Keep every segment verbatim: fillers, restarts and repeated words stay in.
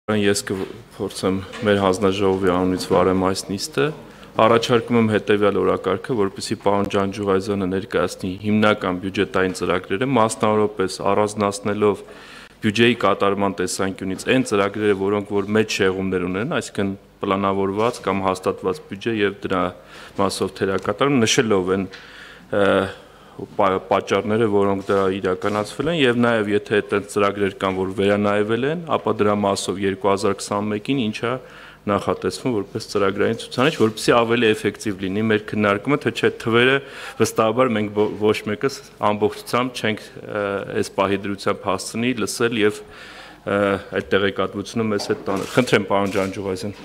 Ես կփորձեմ մեր հանձնաժողովի անունից վարեմ այս նիստը, առաջարկում եմ հետևյալ օրակարգը, որպեսզի պարոն Ջանջուղազյանը ներկայացնի հիմնական բյուջետային ծրագրերը, մասնավորապես առանձնացնելով բյուջեի կատարման տեսանկյունից այն ծրագրերը, որոնք որ մեծ շեղումներ ունեն, այսինքն պլանավորված կամ հաստատված բյուջե եւ դրա մասով թերակատարում, նշելով են պատճառները, որոնք դա իրականացվել են եւ նաեւ եթե այդտեղ ծրագրեր կան, որ վերանայվել են, ապա դրա մասով երկու հազար քսանմեկին ինչա նախատեսվում որպես ծրագրային ցուցանիշ, որպեսզի ավելի էֆեկտիվ լինի մեր քննարկումը, թե չէ թվերը վստահաբար մենք ոչ մեկս ամբողջությամբ չենք այս պահի դրությամբ հասցնի լսել եւ այդ տեղեկատվությունը մեզ հետ տանել։ Խնդրեմ պարոն Ջանջուղազյան։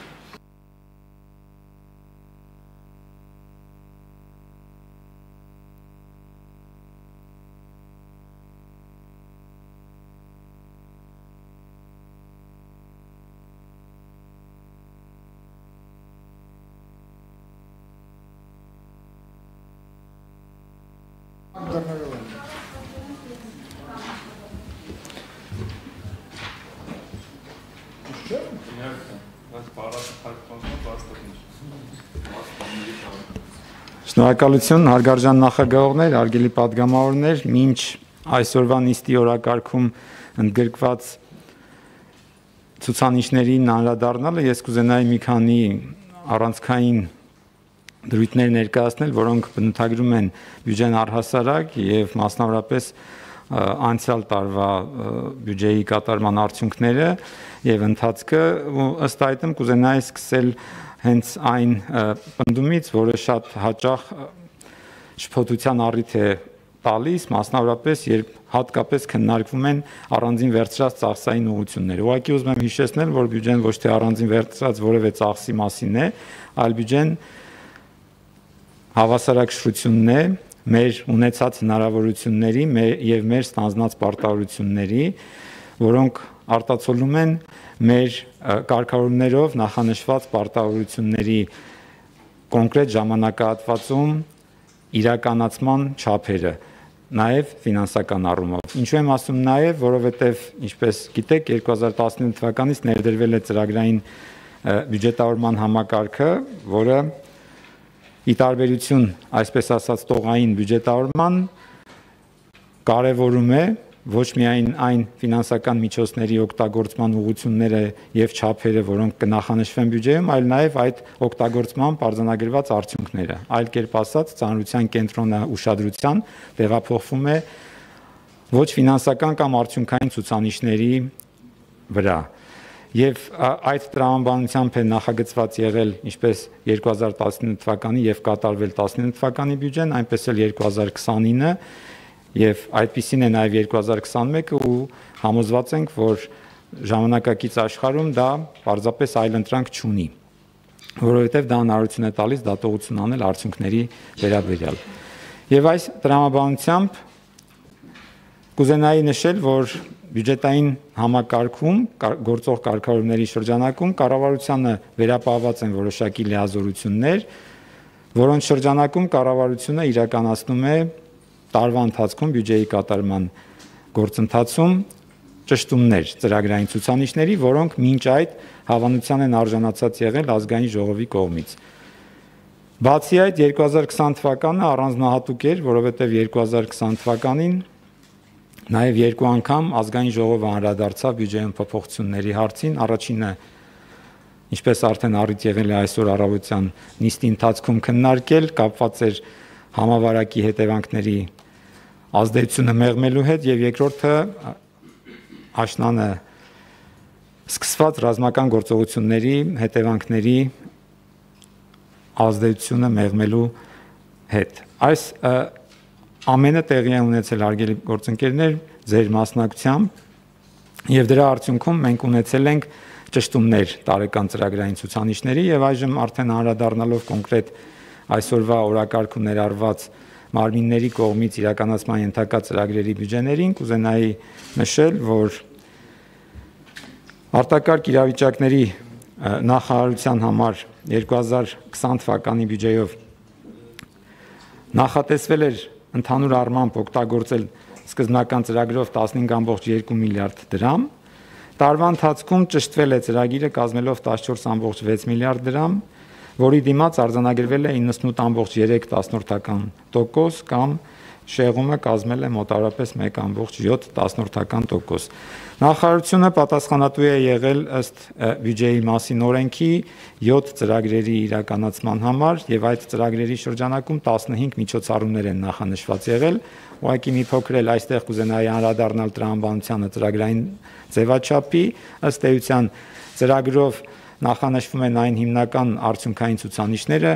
Շնորհակալություն, հարգարժան նախագահողներ, հարգելի պատգամավորներ, մինչ այսօրվա նիստի օրակարգում ընդգրկված ցուցանիշներին անդրադառնալը ես կուզենայի մի քանի առանցքային դրույթներ ներկայացնել, որոնք բնութագրում են բյուջեն առհասարակ եւ մասնավորապես անցյալ տարվա բյուջեի կատարման արդյունքները եւ ընթացքը, ըստ այդմ կուզենայի սկսել հենց այն պնդումից, որը շատ հաճախ շփոթության առիթ է տալիս, մասնավորապես երբ հատկապես քննարկվում են առանձին վերցրած ծախսային ուղղություններ։ Ուղղակի ուզում եմ հիշեցնել, որ բյուջեն ոչ թե առանձին վերցրած որևէ ծախսի մասին է, այլ բյուջեն հավասարակշռությունն է մեր ունեցած հնարավորությունների եւ մեր ստանձնած պարտավորությունների, որոնք արտացոլում են մեր կարգավորումներով նախանշված պարտավորությունների կոնկրետ ժամանակահատվածում իրականացման չափերը, նաև ֆինանսական առումով։ Ինչու եմ ասում նաև, որովհետև ինչպես գիտեք, երկու հազար տասնինը թվականից ներդրվել է ծրագրային բյուջետավորման համակարգը, որը ի տարբերություն, այսպես ասած, տողային բյուջետավորման կարևորում է ոչ միայն այն ֆինանսական միջոցների օգտագործման ուղղությունները եւ չափերը, որոնք կնախանշվեն բյուջեում, այլ նաեւ այդ օգտագործման արձանագրված արդյունքները։ Այլ կերպ ասած, ծանրության կենտրոնը ուշադրության տեղափոխվում է ոչ ֆինանսական կամ արդյունքային ցուցանիշների վրա։ Եվ այդ տրամաբանությամբ է նախագծված եղել ինչպես երկու հազար տասնինը թվականի եւ կատարվել տասնինը թվականի բյուջեն, այնպես էլ երկու հազար քսանինը եւ այդպիսին է նաեւ երկու հազար քսանմեկը ու համոզված ենք, որ ժամանակակից աշխարհում դա պարզապես այլընտրանք չունի, որովհետեւ դա հնարավորություն է տալիս դատողություն անել արդյունքների վերաբերյալ։ Եվ այս տրամաբանությամբ կուզենայի նշել, որ բյուջետային համակարգում գործող կարգավորումների շրջանակում կառավարությանը վերապահված են որոշակի լիազորություններ, որոնց շրջանակում կառավարությունը իրականացնում է տարվա ընթացքում բյուջեի կատարման գործընթացում ճշտումներ ծրագրային ցուցանիշների, որոնք մինչ այդ հավանության են արժանացած եղել ազգային ժողովի կողմից։ Բացի այդ, երկու հազար քսան թվականը առանձնահատուկ էր, որովհետև երկու հազար քսան թվականին նաև երկու անգամ ազգային ժողովը անդրադարձավ բյուջեում փոփոխությունների հարցին, առաջինը, ինչպես արդեն առիթ եղել է այսօր առավոտյան նիստի ընթացքում քննարկել, կապված էր համավարակի հետևանքների ազդեցությունը մեղմելու հետ, եւ երկրորդը աշնանը սկսված ռազմական գործողությունների հետևանքների ազդեցությունը մեղմելու հետ։ Այս ամենը տեղի է ունեցել, հարգելի գործընկերներ, ձեր մասնակցությամբ եւ դրա արդյունքում մենք ունեցել ենք ճշտումներ տարեկան ծրագրային ցուցանիշների եւ այժմ արդեն անդրադառնալով կոնկրետ այսօրվա օրակարգում ներառված մարմինների կողմից իրականացման ենթակա ծրագրերի բյուջեներին, կուզենայի նշել, որ արտակարգ իրավիճակների նախարարության համար երկու հազար քսան թվականի բյուջեով նախատեսվել էր ընդհանուր առմամբ օգտագործել սկզբնական ծրագրով տասնհինգ կόμma երկու միլիարդ դրամ Տարվա ընթացքում ճշտվել է ծրագիրը կազմելով տասնչորս կόμma վեց միլիարդ դրամ, որի դիմաց արձանագրվել է իննսունութ կόμma երեք տոկոս կամ շեղումը կազմել է մոտավորապես մեկ կόμma յոթ տոկոս։ Նախարարությունը պատասխանատու է եղել ըստ բյուջեի մասին օրենքի յոթ ծրագրերի իրականացման համար եւ այդ ծրագրերի շրջանակում տասնհինգ միջոցառումներ են նախանշված եղել։ Ուղղակի մի փոքր էլ այստեղ կուզենայի անդրադառնալ տրամաբանությանը ծրագրային ձևաչափի, ըստ էության ծրագրով նախանշվում են այն հիմնական արդյունքային ցուցանիշները,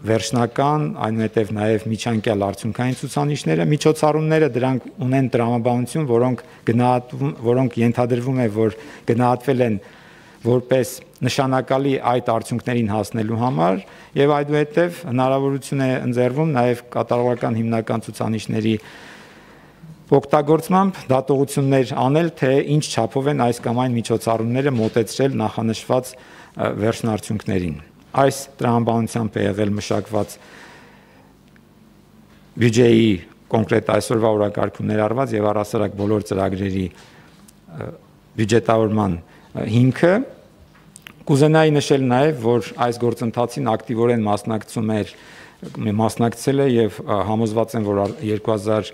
վերջնական, այնուհետև նաև միջանկյալ արդյունքային ցուցանիշները, միջոցառումները դրանք ունեն տրամաբանություն, որոնք գնահատվում, որոնք ենթադրվում է, որ գնահատվել են որպես նշանակալի այդ արդյունքներին հասնելու համար եւ այդուհետև հնարավորություն է ընձեռվում նաև կատարողական հիմնական ցուցանիշների օգտագործմամբ դատողություններ անել, թե ինչ չափով են այս կամ այն միջոցառումները մոտեցրել նախանշված վերջնարդյունքներին։ Այս տրամաբանությամբ է եղել մշակված բյուջեի կոնկրետ այսօրվա օրակարգում ներառված եւ առհասարակ բոլոր ծրագրերի բյուջետավորման հիմքը։ Կուզենայի նշել նաեւ, որ այս գործընթացին ակտիվորեն մասնակցում էր մասնակցել է եւ համոզված եմ, որ երկու հազար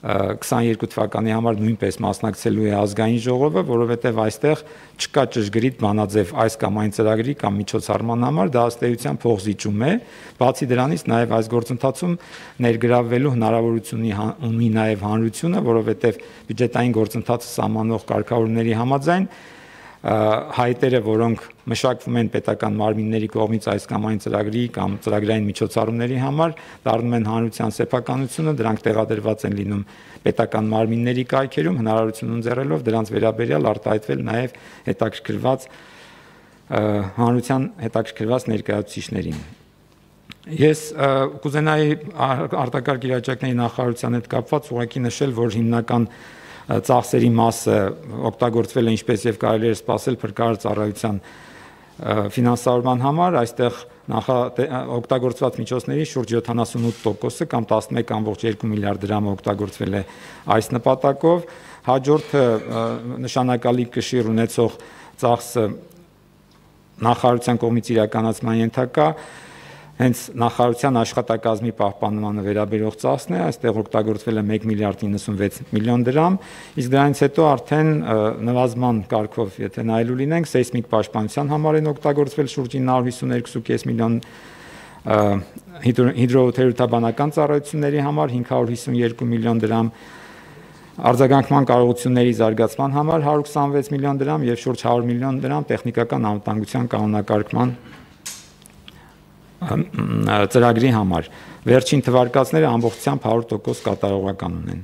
քսաներկու թվականի համար նույնպես մասնակցելու է ազգային ժողովը, որովհետև այստեղ չկա ճշգրիտ բանաձև այս կամ այն ծրագրի կամ միջոցառման համար, դա ըստ էության փոխզիջում է։ Բացի դրանից նաև այս գործընթացում ներգրավվելու հնարավորություն ունի նաև հանրությունը, որովհետև բյուջետային գործընթացը սահմանող կարգավորումների համաձայն հայտերը, որոնք մշակվում են պետական մարմինների կողմից այս կամ այն ծրագրի կամ ծրագրային միջոցառումների համար, դառնում են հանրության սեփականությունը, դրանք տեղադրված են լինում պետական մարմինների կայքերում, հնարավորություն ընձեռելով դրանց վերաբերյալ արտահայտվել նաև հետաքրքրված հանրության հետաքրքրված ներկայացուցիչներին։ Ես կուզենայի արտակարգ իրավիճակների նախարարության հետ կապված ուղղակի նշել, որ հիմնական ծախսերի մասը օգտագործվել է ինչպես եւ կարելի է սպասել փրկարար ծառայության ֆինանսավորման համար, այստեղ օգտագործված միջոցների շուրջ յոթանասունութ տոկոսը կամ տասնմեկ կόμma երկու միլիարդ դրամը օգտագործվել է այս նպատակով։ Հաջորդը նշանակալի կշիռ ունեցող ծախսը նախարարության կողմից իրականացման ենթակա հենց նախարարության աշխատակազմի պահպանմանը վերաբերող ծախսն է, այստեղ օգտագործվել է մեկ միլիարդ իննսունվեց միլիոն դրամ, իսկ դրանից հետո արդեն նվազման կարգով, եթե նայելու լինենք, սեյսմիկ պաշտպանության համար են օգտագործվել շուրջ ինը հարյուր հիսուներու կόμma պենս միլիոն, հիդրոթերապևտաբանական ծառայությունների համար հինգ հարյուր հիսունյոթ միլիոն դրամ, արձագանքման կարողությունների զարգացման համար հարյուր քսանվեց միլիոն դրամ եւ շուրջ հարյուր միլիոն դրամ տեխնիկական անվտանգության կանոնակարգման ծրագրի համար։ Վերջին թվարկածները ամբողջությամբ հարյուր տոկոս կատարողական ունեն։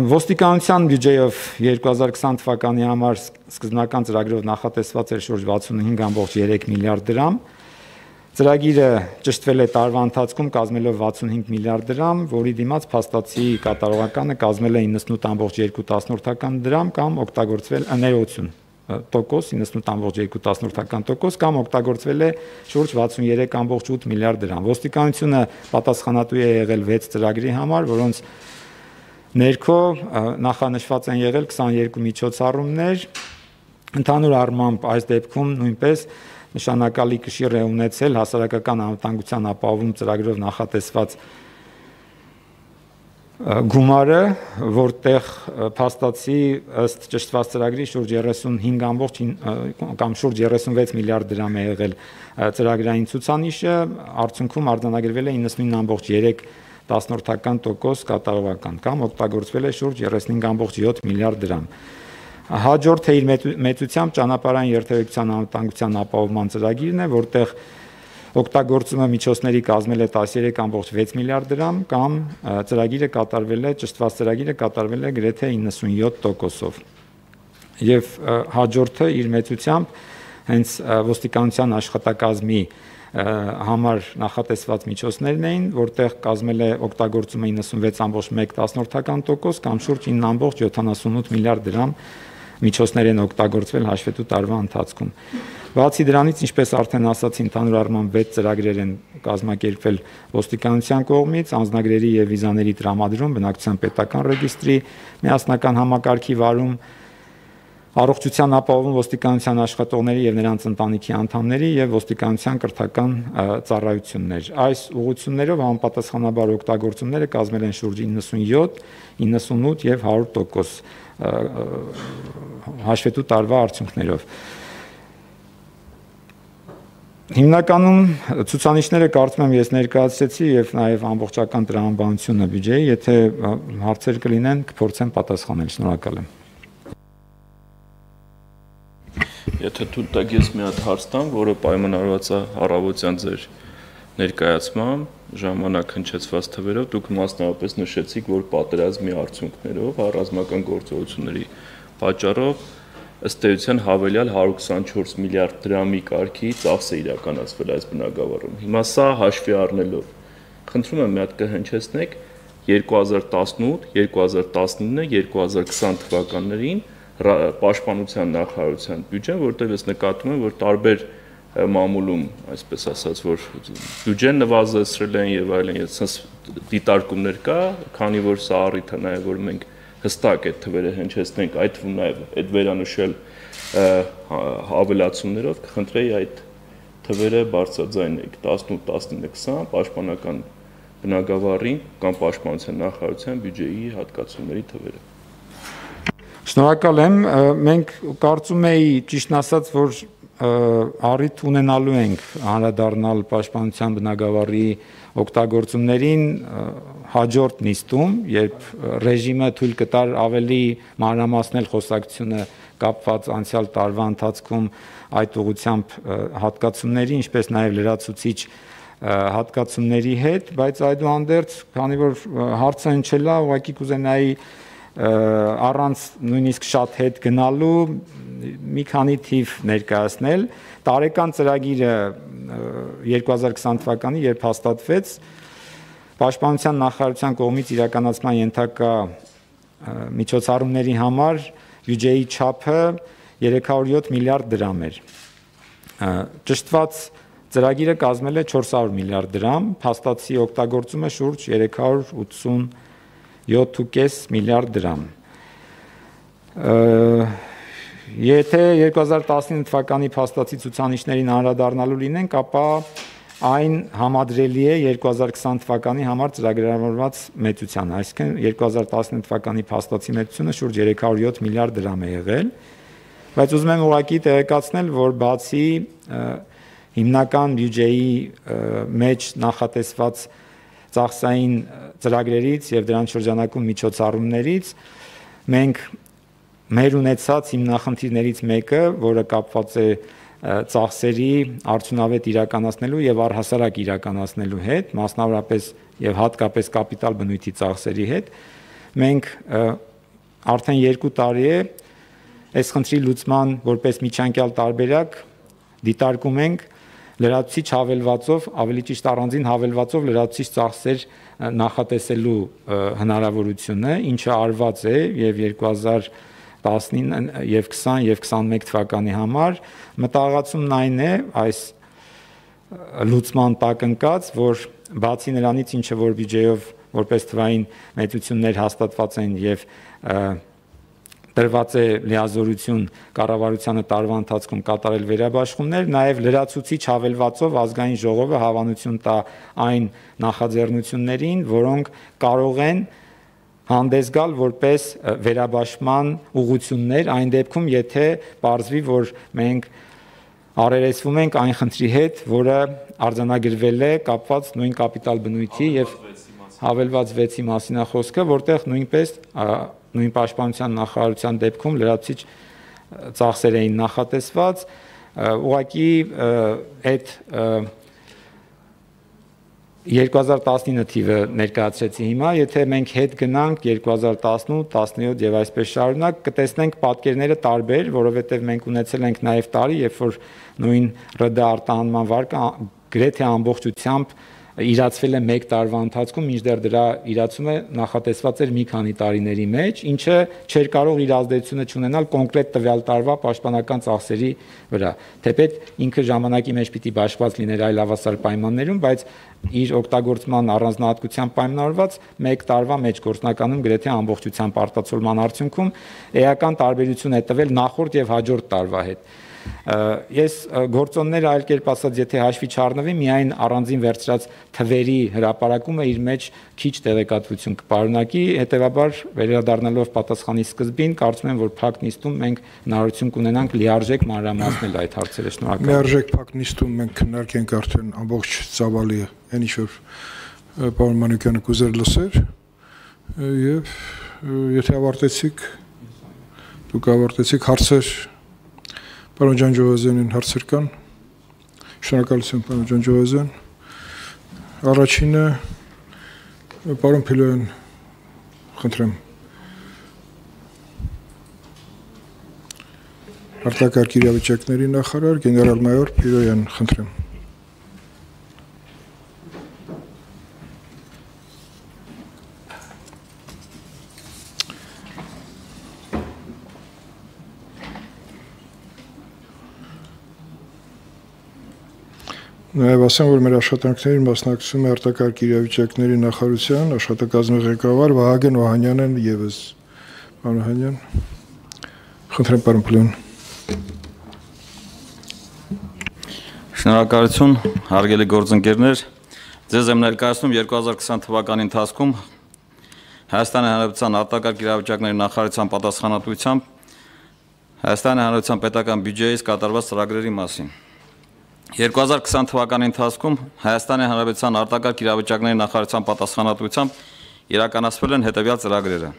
Ոստիկանության բյուջեով երկու հազար քսան թվականի համար սկզբնական ծրագրով նախատեսված էր շուրջ վաթսունհինգ կόμma երեք միլիարդ դրամ։ Ծրագիրը ճշտվել է տարվա ընթացքում կազմելով վաթսունհինգ միլիարդ դրամ, որի դիմաց փաստացի կատարողականը կազմել է իննսունութ կόμma երկու դրամ կամ օգտագործվել ներողություն տոկոս իննսունութ կόμma երկու տոկոս կամ օգտագործվել է շուրջ վաթսունյոթ կόμma ութ միլիարդ դրամ։ Ոստիկանությունը պատասխանատու է եղել վեց ծրագրի համար, որոնց ներքո նախանշված են եղել քսաներկու միջոցառումներ։ Ընդհանուր առմամբ այս դեպքում նույնպես նշանակալի կշիռ է ունեցել հասարակական անվտանգության ապահովում ծրագրով նախատեսված գումարը, որտեղ փաստացի ըստ ճշտված ծրագրի շուրջ երեսունհինգ կամ շուրջ երեսունվեց միլիարդ դրամ է եղել ծրագրային ցուցանիշը, արդյունքում արձանագրվել է իննսունինը կόμma երեք տոկոս կատարողական կամ օգտագործվել է շուրջ երեսունհինգ կόμma յոթ միլիարդ դրամ։ Հաջորդը իր մեծությամբ ճանապարհային երթևեկության անվտանգության ապահովման ծրագիրն է, որտեղ օգտագործումը միջոցների կազմել է տասներեք կόμma վեց միլիարդ դրամ կամ ծրագիրը կատարվել է ճշտված ծրագիրը կատարվել է գրեթե իննսունյոթ տոկոսով։ Եվ հաջորդը իր մեծությամբ հենց ոստիկանության աշխատակազմի համար նախատեսված միջոցներն էին, որտեղ կազմել է օգտագործումը իննսունվեց կόμma մեկ տոկոս կամ շուրջ ինը կόμma յոթանասունութ միլիարդ դրամ միջոցներ են օգտագործվել հաշվետու տարվա ընթացքում։ Բացի դրանից, ինչպես արդեն ասացի, ընդհանուր առմամբ վեց ծրագրեր են կազմակերպվել ոստիկանության կողմից, անձնագրերի եւ վիզաների տրամադրում, բնակչության պետական ռեգիստրի միասնական համակարգի վարում, առողջության ապահովում ոստիկանության աշխատողների եւ նրանց ընտանիքի անդամների եւ ոստիկանության կրթական ծառայություններ։ Այս ուղղություններով համապատասխանաբար օգտագործումները կազմել են շուրջ իննսունյոթ, իննսունութ եւ հարյուր տոկոս հաշվետու տարվա արդյունքներով։ Հիմնականում ցուցանիշները կարծում եմ ես ներկայացրեցի եւ նաեւ ամբողջական տրամաբանությունը բյուջեի, եթե հարցեր կլինեն, կփորձեմ պատասխանել։ Շնորհակալ եմ։ Եթե թույլ տաք ես մի հատ հարց տամ, որը պայմանավորված է առավոտյան ձեր ներկայացմամբ, ժամանակ հնչեցված թվերով, դուք մասնավորապես նշեցիք, որ պատերազմի արդյունքներով, ռազմական գործողությունների պատճառով ըստ էության հավելյալ հարյուր քսանչորս միլիարդ դրամի կարգի ծախս է իրականացվել այս բնագավառում։ Հիմա սա հաշվի առնելով, խնդրում եմ մի հատ կհնչեցնեք երկու հազար տասնութ, երկու հազար տասնինը, երկու հազար քսան թվականներին պաշտպանության նախարարության բյուջեն, որտեղ ես նկատում եմ, որ տարբեր մամուլում, այսպես ասած, որ բյուջեն նվազեցրել են եւ այլն, այսպես դիտարկումներ կա, քանի որ սա առիթ է նաեւ, որ մենք հստակ այդ թվերը հնչեցնենք, այդ թվում նաև այդ վերանշել հավելացումներով կխնդրեի այդ թվերը բարձրաձայնեք տասնութ, տասնինը, քսան պաշտպանական բնագավառին կամ պաշտպանության նախարարության բյուջեի հատկացումների թվերը։ Շնորհակալ եմ, մենք կարծում էի ճիշտն ասած, որ առիթ ունենալու ենք անդրադառնալ պաշտպանության բնագավառի օգտագործումներին հաջորդ նիստում, երբ ռեժիմը թույլ կտար ավելի մանրամասնել խոսակցությունը կապված անցյալ տարվա ընթացքում այդ ուղղությամբ հատկացումների, ինչպես նաև լրացուցիչ հատկացումների հետ, բայց այդուհանդերձ, քանի որ հարցը հնչել է, ուղղակի կուզենայի առանց նույնիսկ շատ հետ գնալու մի քանի թիվ ներկայացնել։ Տարեկան ծրագիրը երկու հազար քսան թվականի, երբ հաստատվեց, Պաշտպանության նախարարության կողմից իրականացման ենթակա միջոցառումների համար բյուջեի չափը երեք հարյուր յոթ միլիարդ դրամ էր։ Ճշտված ծրագիրը կազմել է չորս հարյուր միլիարդ դրամ, փաստացի օգտագործումը շուրջ երեք հարյուր ութսունյոթ վեցից կես միլիարդ դրամ։ Եթե երկու հազար տասնինը թվականի փաստացի ցուցանիշներին անդրադառնալու լինենք, ապա այն համադրելի է երկու հազար քսան թվականի համար ծրագրավորված մեծության, այսինքն երկու հազար տասնինը թվականի փաստացի մեծությունը շուրջ երեք հարյուր յոթ միլիարդ դրամ է եղել, բայց ուզում եմ ուղղակի տեղեկացնել, որ բացի հիմնական բյուջեի մեջ նախատեսված ծախսային ծրագրերից եւ դրանց շրջանակում միջոցառումներից մենք մեր ունեցած հիմնախնդիրներից մեկը, որը կապված է ծախսերի արդյունավետ իրականացնելու եւ առհասարակ իրականացնելու հետ, մասնավորապես եւ հատկապես կապիտալ բնույթի ծախսերի հետ, մենք արդեն երկու տարի է այս խնդրի լուծման որպես միջանկյալ տարբերակ դիտարկում ենք լրացուցիչ հավելվածով, ավելի ճիշտ առանձին հավելվածով լրացուցիչ ծախսեր նախատեսելու հնարավորությունը, ինչը արված է եւ երկու հազար տասնինը եւ քսան եւ քսանմեկ թվականի համար մտահղացումն այն է այս լուծման տակ ընկած, որ բացի նրանից, ինչը որ բյուջեով որպես թվային մեծություններ հաստատված են եւ տրված է լիազորություն կառավարությանը տարվա ընթացքում կատարել վերաբաշխումներ, նաև լրացուցիչ հավելվածով ազգային ժողովը հավանություն տա այն նախաձեռնություններին, որոնք կարող են հանդես գալ որպես վերաբաշխման ուղղություններ այն դեպքում, եթե պարզվի, որ մենք առերեսվում ենք այն խնդրի հետ, որը արձանագրվել է կապված նույն կապիտալ բնույթի եւ հավելված վեցի մասին է խոսքը, որտեղ նույնպես նույն պաշտպանության նախարարության դեպքում լրացուցիչ ծախսեր էին նախատեսված, ուղղակի այդ երկու հազար տասնինը թիվը ներկայացրեցի հիմա, եթե մենք հետ գնանք երկու հազար տասնութ, տասնյոթ եւ այսպես շարունակ, կտեսնենք պատկերները տարբեր, որովհետեւ մենք ունեցել ենք նաեւ տարի, երբ որ նույն ՌԴ արտահանման վարկը գրեթե ամբողջությամբ իրացվել է մեկ տարվա ընթացքում, մինչդեռ դրա իրացումը նախատեսված էր մի քանի տարիների մեջ, ինչը չէր կարող իր ազդեցությունը չունենալ կոնկրետ տվյալ տարվա պաշտպանական ծախսերի վրա։ Թեպետ ինքը ժամանակի մեջ պիտի բաշխված լիներ այլ հավասար պայմաններում, բայց իր օգտագործման առանձնահատկության պայմանավորված մեկ տարվա մեջ գործնականում գրեթե ամբողջությամբ արտացոլման արդյունքում էական տարբերություն է տվել նախորդ եւ հաջորդ տարվա հետ։ Ես գործոնները այլ կերպ ասած, եթե հաշվի չառնվի, միայն առանձին վերցրած թվերի հրապարակումը իր մեջ քիչ տեղեկատվություն կպարունակի, հետեւաբար վերադառնալով պատասխանի սկզբին, կարծում եմ, որ փակ նիստում մենք հնարավորություն կունենանք լիարժեք մանրամասնել այդ հարցերը։ Շնորհակալ եմ։ Լիարժեք փակ նիստում մենք քննարկենք արդեն ամբողջ ծավալի, այն ինչ որ պարոն Մանուկյանը կուզեր լսեր, եւ եթե ավարտեցիք, դուք ավարտեցիք հարցեր Պարոն Ջանջովազյանին հարցեր կան։ Շնորհակալություն պարոն Ջանջովազյան։ Առաջինը պարոն Փիլոյան, խնդրեմ։ Արտակարգ իրավիճակների նախարար գեներալ-մայոր Փիլոյան, խնդրեմ։ Նաև ասեմ, որ մեր աշխատանքներին մասնակցում է արտակարգ իրավիճակների նախարարության աշխատակազմի ղեկավար Վահագն Օհանյանն ևս։ Պարոն Օհանյան, խնդրեմ պարոն Փիլոյան։ Շնորհակալություն, հարգելի գործընկերներ, ձեզ եմ ներկայացնում երկու հազար քսան թվականի ընթացքում Հայաստանի Հանրապետության արտակարգ իրավիճակների նախարարության պատասխանատվությամբ Հայաստանի Հանրապետության պետական բյուջեից կատարված ծրագրերի մասին։ երկու հազար քսան թվականի ընթացքում Հայաստանի Հանրապետության արտակարգ իրավիճակների նախարարության պատասխանատվությամբ իրականացվել են հետևյալ ծրագրերը.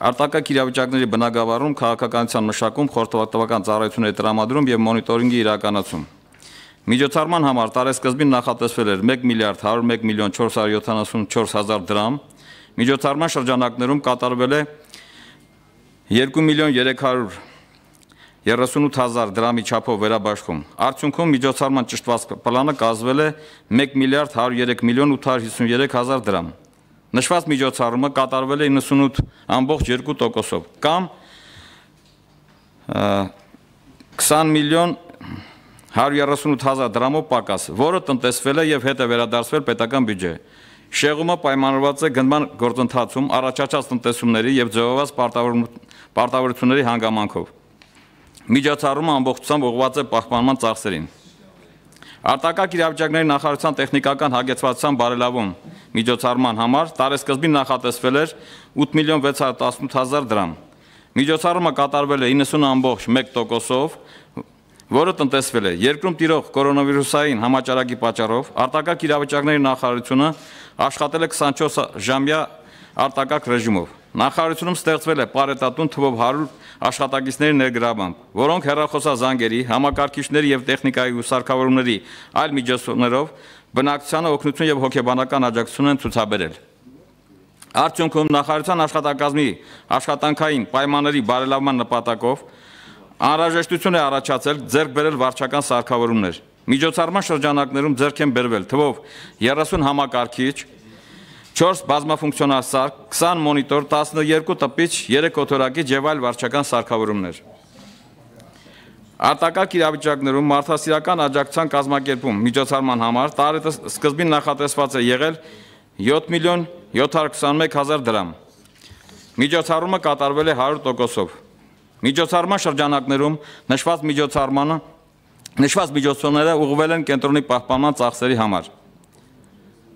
Արտակարգ իրավիճակների բնագավառում, քաղաքականության մշակում, խորհրդատվական ծառայությունների տրամադրում եւ մոնիտորինգի իրականացում։ Միջոցառման համար տարեսկզբին նախատեսվել էր մեկ միլիարդ հարյուր մեկ միլիոն չորս հարյուր յոթանասունչորս հազար դրամ, միջոցառման շրջանակներում կատարվել է երկու միլիոն երեք հարյուր երեսունութ հազար դրամի չափով վերաբաշխում։ Արդյունքում միջոցառման ճշտված պլանը կազմել է մեկ միլիարդ հարյուր երեք միլիոն ութ հարյուր հիսուներեք հազար դրամ։ Նշված միջոցառումը կատարվել է իննսունութ կόμμα երկու տոկոսով կամ քսան միլիոն հարյուր երեսունութ հազար դրամով պակաս, որը տնտեսվել է եւ հետ է վերադարձվել պետական բյուջե։ Շեղումը պայմանավորված է գնման գործընթացում առաջացած տնտեսումների եւ ձևավորված պարտավորությունների հանգամանքով։ Միջոցառումը ամբողջությամբ ուղղված է պահպանման ծախսերին։ Արտակարգ իրավիճակների նախարարության տեխնիկական հագեցվածության բարելավում միջոցառման համար տարեսկզբին նախատեսվել էր ութ միլիոն վեց հարյուր տասնութ հազար դրամ։ Միջոցառումը կատարվել է իննսուն կόμμα մեկ տոկոսով, որը տնտեսվել է երկրում տիրող կորոնավիրուսային համաճարակի պատճառով։ Արտակարգ իրավիճակների նախարարությունը աշխատել է քսանչորս ժամյա արտակարգ ռեժիմով։ Նախարարությունում ստեղծվել է պարետատուն թվով հարյուր աշխատակիցների ներգրավմամբ, որոնք հեռախոսազանգերի, համակարգիչների եւ տեխնիկայի ու սարքավորումների այլ միջոցներով բնակչությանը օգնություն եւ հոգեբանական աջակցություն են ցուցաբերել։ Արդյունքում նախարարության աշխատակազմի աշխատանքային պայմանների բարելավման նպատակով անհրաժեշտություն է առաջացել ձեռք բերել վարչական սարքավորումներ։ Միջոցառման շրջանակներում ձեռք են բերվել թվով երեսուն համակարգիչ, չորս բազմաֆունկցիոնալ սարք, քսան մոնիտոր, տասնյոթ տպիչ, երեք օդորակիչ եւ այլ վարչական սարքավորումներ։ Արտակարգ իրավիճակներում մարդասիրական աջակցության կազմակերպում միջոցառման համար տարեսկզբին նախատեսված է եղել յոթ միլիոն յոթ հարյուր քսանմեկ հազար դրամ։ Միջոցառումը կատարվել է հարյուր տոկոսով։ Միջոցառման շրջանակներում նշված միջոցառմանը նշված միջոցառումները ուղղվել են կենտրոնի պահպանման ծախսերի համար։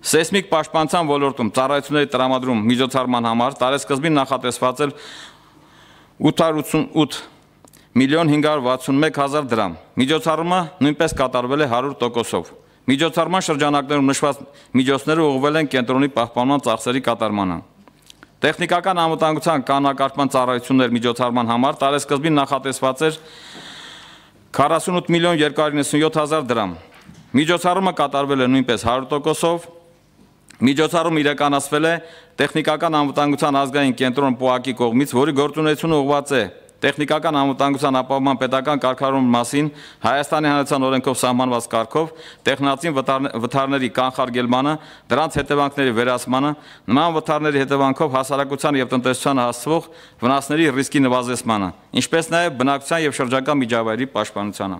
Սեյսմիկ պաշտպանության ոլորտում ծառայությունների տրամադրում միջոցառման համար տարեսկզբին նախատեսված էր ութ հարյուր ութսունութ միլիոն հինգ հարյուր վաթսունմեկ հազար դրամ։ Միջոցառումը նույնպես կատարվել է հարյուր տոկոսով։ Միջոցառման շրջանակներում նշված միջոցները ուղղվել են կենտրոնի պահպանման ծախսերի կատարմանը։ Տեխնիկական անվտանգության կանոնակարգման ծառայություններ միջոցառման համար տարեսկզբին նախատեսված էր քառասունութ միլիոն երկու հարյուր նվեցունյոթ հազար դրամ։ Միջոցառումը կատարվել է նույնպես հարյուր տոկոսով։ Միջոցառումը իրականացվել է տեխնիկական անվտանգության ազգային կենտրոն ՊՕԱԿ-ի կողմից, որի գործունեությունը ուղղված է տեխնիկական անվտանգության ապահովման պետական կարգավորման մասին Հայաստանի Հանրապետության օրենքով սահմանված կարգով տեխնացին վթարների կանխարգելմանը, դրանց հետևանքների վերացմանը, նման վթարների հետևանքով հասարակության եւ տնտեսությանը հասցվող վնասների ռիսկի նվազեցմանը, ինչպես նաեւ բնակչության եւ շրջակա միջավայրի պաշտպանությանը։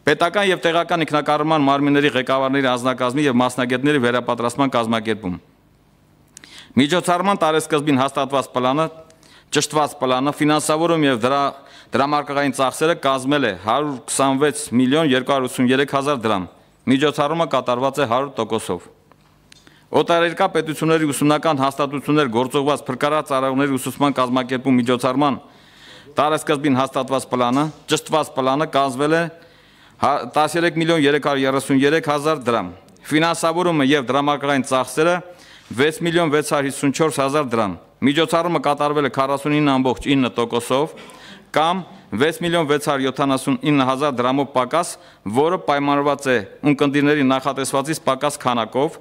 Պետական եւ տեղական ինքնակառավարման մարմինների ղեկավարների անձնակազմի եւ մասնագետների վերապատրաստման կազմակերպում։ Միջոցառման տարեսկզբին հաստատված պլանը, ճշտված պլանը, ֆինանսավորում եւ դրա դրամարկղային ծախսերը կազմել է հարյուր քսանվեց միլիոն երկու հարյուր ութսուներեք հազար դրամ։ Միջոցառումը կատարված է հարյուր տոկոսով։ Օտարերկրյա պետությունների ուսումնական հաստատություններ գործողված փրկարար ծառայողների ուսուցման կազմակերպում միջոցառման տարեսկզբին հաստատված պլանը, ճշտված պլանը կազմել է տասներեք միլիոն երեք հարյուր երեսուններեք հազար դրամ։ Ֆինանսավորումը եւ դրամարկղային ծախսերը վեց միլիոն վեց հարյուր հիսունչորս հազար դրամ։ Միջոցառումը կատարվել է քառասունինը ամբողջ ինը տոկոսով կամ վեց միլիոն վեց հարյուր յոթանասունինը հազար դրամով պակաս, որը պայմանավորված է ունկնդիրների նախատեսվածից պակաս քանակով։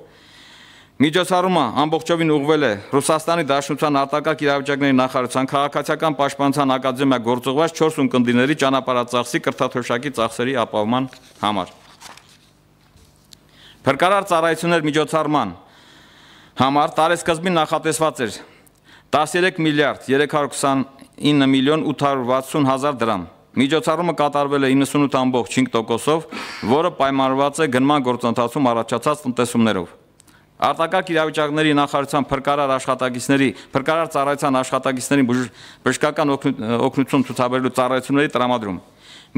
Միջոցառումը ամբողջովին ուղղվել է Ռուսաստանի Դաշնության արտակարգ իրավիճակների նախարարության քաղաքացիական պաշտպանության ակադեմիա գործողված չորս ունկնդիրների ճանապարհածախսի կրթաթոշակի ծախսերի ապահովման համար։ Փրկարար ծառայություններ միջոցառման համար տարեսկզբին նախատեսված էր տասներեք միլիարդ երեք հարյուր քսանինը միլիոն ութ հարյուր վաթսուն հազար դրամ։ Միջոցառումը կատարվել է իննսունութ ամբողջ հինգ տոկոսով, որը պայմանավորված է գնման գործընթացում առաջացած տնտեսումներով։ Արտակարգ իրավիճակների նախարարության փրկարար աշխատակիցների, փրկարար ծառայության աշխատակիցների բժշկական օգնություն ցուցաբերելու ծառայությունների տրամադրում։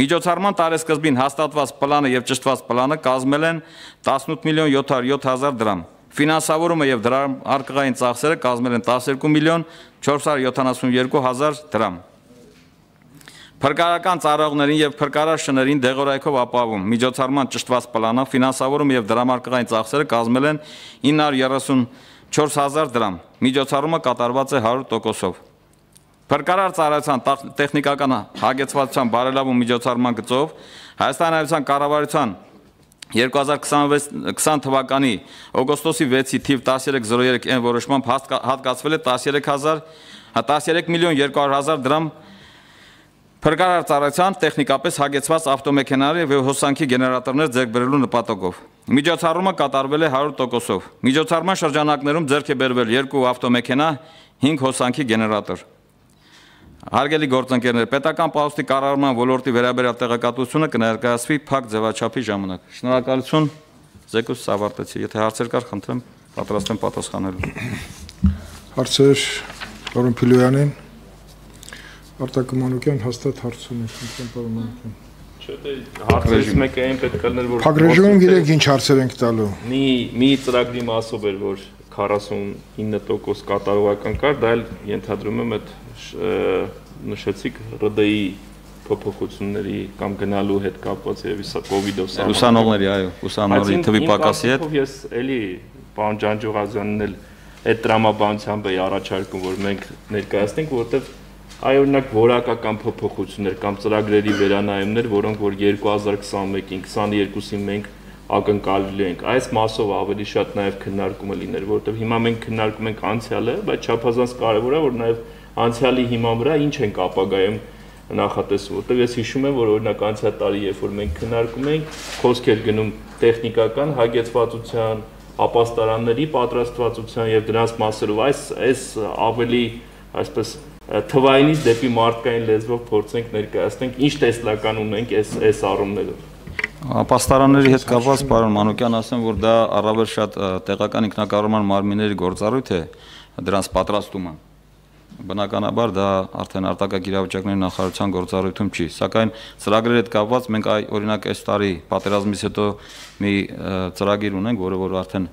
Միջոցառման տարեսկզբին հաստատված պլանը եւ ճշտված պլանը կազմել են տասնութ միլիոն յոթ հարյուր յոթ հազար դրամ։ Ֆինանսավորումը եւ դրամարկղային ծախսերը կազմել են տասներկու միլիոն չորս հարյուր յոթանասունյոթ հազար դրամ։ Փրկարարական ծառայողներին եւ փրկարար շներին դեղորայքով ապահովում միջոցառման ճշտված պլանը, ֆինանսավորումը եւ դրամարկղային ծախսերը կազմել են ինը հարյուր երեսունչորս հազար դրամ։ Միջոցառումը կատարված է հարյուր տոկոսով։ Փրկարար ծառայության տեխնիկական հագեցվածության բարելավում միջոցառման գծով Հայաստանի Հանրապետության կառավարության երկու հազար քսան թվականի օգոստոսի վեցի թիվ տասներեք զրո երեք N որոշմամբ հատկացվել է տասներեք միլիոն երկու հարյուր հազար դրամ փրկարար ծառայության տեխնիկապես հագեցված ավտոմեքենաների եւ հոսանքի գեներատորներ ձեռք բերելու նպատակով։ Միջոցառումը կատարվել է հարյուր տոկոսով։ Միջոցառման շրջանակներում ձեռք է բերվել երկու ավտոմեքենա, հինգ հոսանքի գեներատոր։ Հարգելի գործընկերներ, պետական պահոստի կառավարման ոլորտի վերաբերյալ տեղեկատվությունը կներկայացվի փակ ձևաչափի ժամանակ։ Շնորհակալություն, զեկույցս ավարտեցի։ Եթե հարցեր կար, խնդրեմ պատրաստ եմ պատասխանելու։ Հարցեր պարոն Փիլոյանին, Արտակ Մանուկյան հաստատ հարց ունի, խնդրեմ պարոն Մանուկյան։ Չէ, դե հարցերից մեկը այն պետք է լիներ, որ Փակ ռեժիմում գիտեք ինչ հարցեր ենք տալու։ Մի մի ծրագրի մասով էր, որ քառասունինը տոկոս կատարողական կար, դա էլ ենթադրում եմ այդ նշեցիք R D I փոփոխությունների կամ գնալու հետ կապված եւ իսա կոവിഡով սա ուսանողների, այո, ուսանողների թվի պակասի հետ։ Ես էլի պարոն Ջանջուղազյանն էլ այդ տրամաբանությամբ էի առաջարկում, որ մենք ներկայացնենք, որովհետեւ այ օրինակ որակական փոփոխություններ կամ ծրագրերի վերանայումներ, որոնք որ երկու հազար քսանմեկին, քսաներկուսին մենք ակնկալելու ենք։ Այս մասով ավելի շատ նաև քննարկումը լիներ, որովհետև հիմա մենք քննարկում ենք անցյալը, բայց չափազանց կարևոր է, որ նաև անցյալի հիման վրա ինչ ենք ապագայում նախատեսում, որովհետև ես հիշում եմ, որ օրինակ անցյալ տարի, երբ որ մենք քննարկում էինք, խոսք էր գնում տեխնիկական հագեցվածության, ապաստարանների պատրաստվածության եւ դրանց մասերով, այս այս ավելի այսպես թվայինից դեպի մարդկային լեզվով փորձենք ներկայացնենք, ինչ տեսլական ունենք այս այս առումներով։ Ապաստարանների հետ կապված պարոն Մանուկյան ասեմ, որ դա առավել շատ տեղական ինքնակառավարման մարմինների գործառույթ է, դրանց պատրաստումը։ Բնականաբար դա արդեն արտակարգ իրավիճակների նախարարության գործառույթում չի, սակայն ծրագրերի հետ կապված մենք օրինակ այս տարի պատերազմից հետո մի ծրագիր ունենք, որը որ արդեն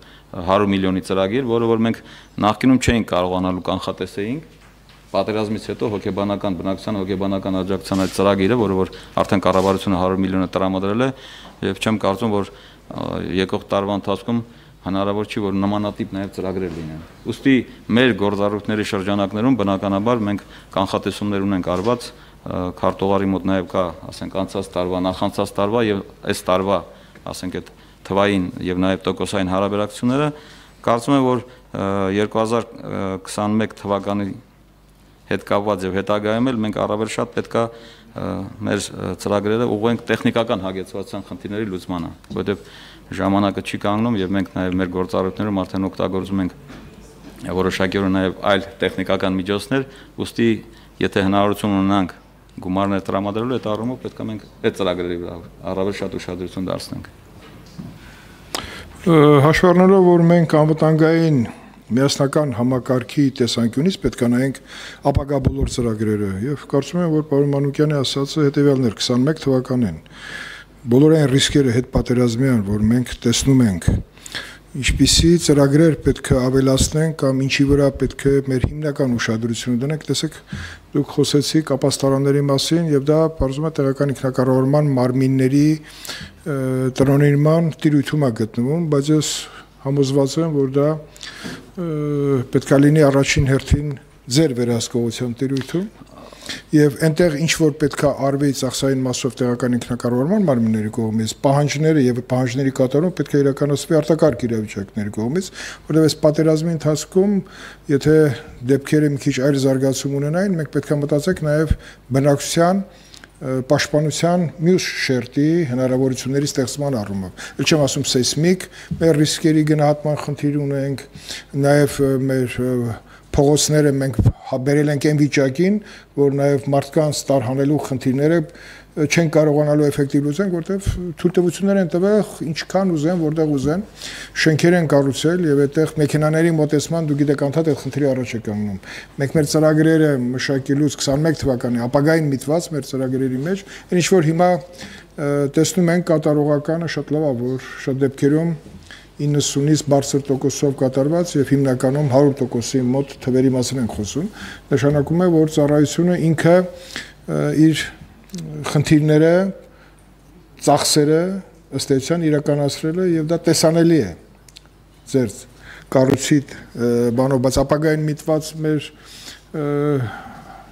հարյուր միլիոնի ծրագիր, որը որ մենք նախկինում չէինք կարողանալու կանխատեսեինք։ Պատերազմից հետո հոգեբանական բնակչության հոգեբանական աջակցության այդ ծրագիրը, որը որ արդեն կառավարությունը հարյուր միլիոնը տրամադրել է, եւ չեմ կարծում, որ եկող տարվա ընթացքում հնարավոր չի, որ նմանատիպ նաեւ ծրագրեր լինեն։ Ուստի մեր գործառույթների շրջանակներում բնականաբար մենք կանխատեսումներ ունենք արված, քարտուղարի մոտ նաեւ կա, ասենք, անցած տարվա, նախանցած տարվա եւ այս տարվա, ասենք, այդ թվային եւ նաեւ տոկոսային հարաբերակցությունները, կարծում եմ, որ երկու հազար քսանմեկ թվականի հետ կապված եւ հետագայում էլ մենք առավել շատ պետքա մեր ծրագրերը ուղղենք տեխնիկական հագեցվածության խնդիրների լուծմանը, որովհետեւ ժամանակը չի կանգնում եւ մենք նաեւ մեր գործառույթներում արդեն օգտագործում ենք որոշակիորեն նաեւ այլ տեխնիկական միջոցներ, ուստի եթե հնարավորություն ունենանք գումարներ տրամադրելու, այդ առումով պետք է մենք այդ ծրագրերի վրա առավել շատ ուշադրություն դարձնենք։ Հաշվառնելով, որ մենք անվտանգային միասնական համակարգի տեսանկյունից պետք է նայենք ապագա բոլոր ծրագրերը եւ կարծում եմ, որ պարոն Մանուկյանի ասածը հետեւյալն էր քսանմեկ թվականին բոլոր այն ռիսկերը հետ պատերազմյան, որ մենք տեսնում ենք, ինչպիսի ծրագրեր պետք է ավելացնենք կամ ինչի վրա պետք է մեր հիմնական ուշադրությունը դնենք, տեսեք, դուք խոսեցիք ապաստարանների մասին եւ դա բարձում է տեղական ինքնակառավարման մարմինների տնօրինման տիրույթում է գտնվում, բայց ես համոզված եմ, որ դա պետք է լինի առաջին հերթին ձեր վերահսկողության տիրույթում եւ այնտեղ ինչ որ պետք է արվի ծախսային մասով տեղական ինքնակառավարման մարմինների կողմից, պահանջները եւ պահանջների կատարումը պետք է իրականացվի արտակարգ իրավիճակների կողմից, որովհետեւ այս պատերազմի ընթացքում, եթե դեպքերը մի քիչ այլ զարգացում ունենային, մենք պետք է մտածենք նաեւ բնակչության պաշտպանության մյուս շերտի հնարավորությունների ստեղծման առումով։ Էլ չեմ ասում սեյսմիկ, մեր ռիսկերի գնահատման խնդիր ունենք, նաեւ մեր փողոցները մենք բերել ենք այն վիճակին, որ նաև մարդկանց տարհանելու խնդիրները չեն կարողանալու էֆեկտիվ լուծեն, որտեղ թույլտվություններ են տվել ինչքան ուզեն, որտեղ ուզեն, շենքեր են կառուցել եւ այդտեղ մեքենաների մոտեցման դու գիտեք անդադ այդ խնդրի առաջ է կանգնում։ Մենք մեր ծրագրերը մշակելուց քսանմեկ թվականի ապագային միտված մեր ծրագրերի մեջ, ինչ որ հիմա տեսնում ենք կատարողականը շատ լավ է, որ շատ դեպքերում իննսունից բարձր տոկոսով կատարված եւ հիմնականում հարյուր տոկոսի մոտ թվերի մասին ենք խոսում, նշանակում է, որ ծառայությունը ինքը իր խնդիրները, ծախսերը ըստ էության իրականացրել է եւ դա տեսանելի է ձեր կառույցիդ բանով, բայց ապագային միտված մեր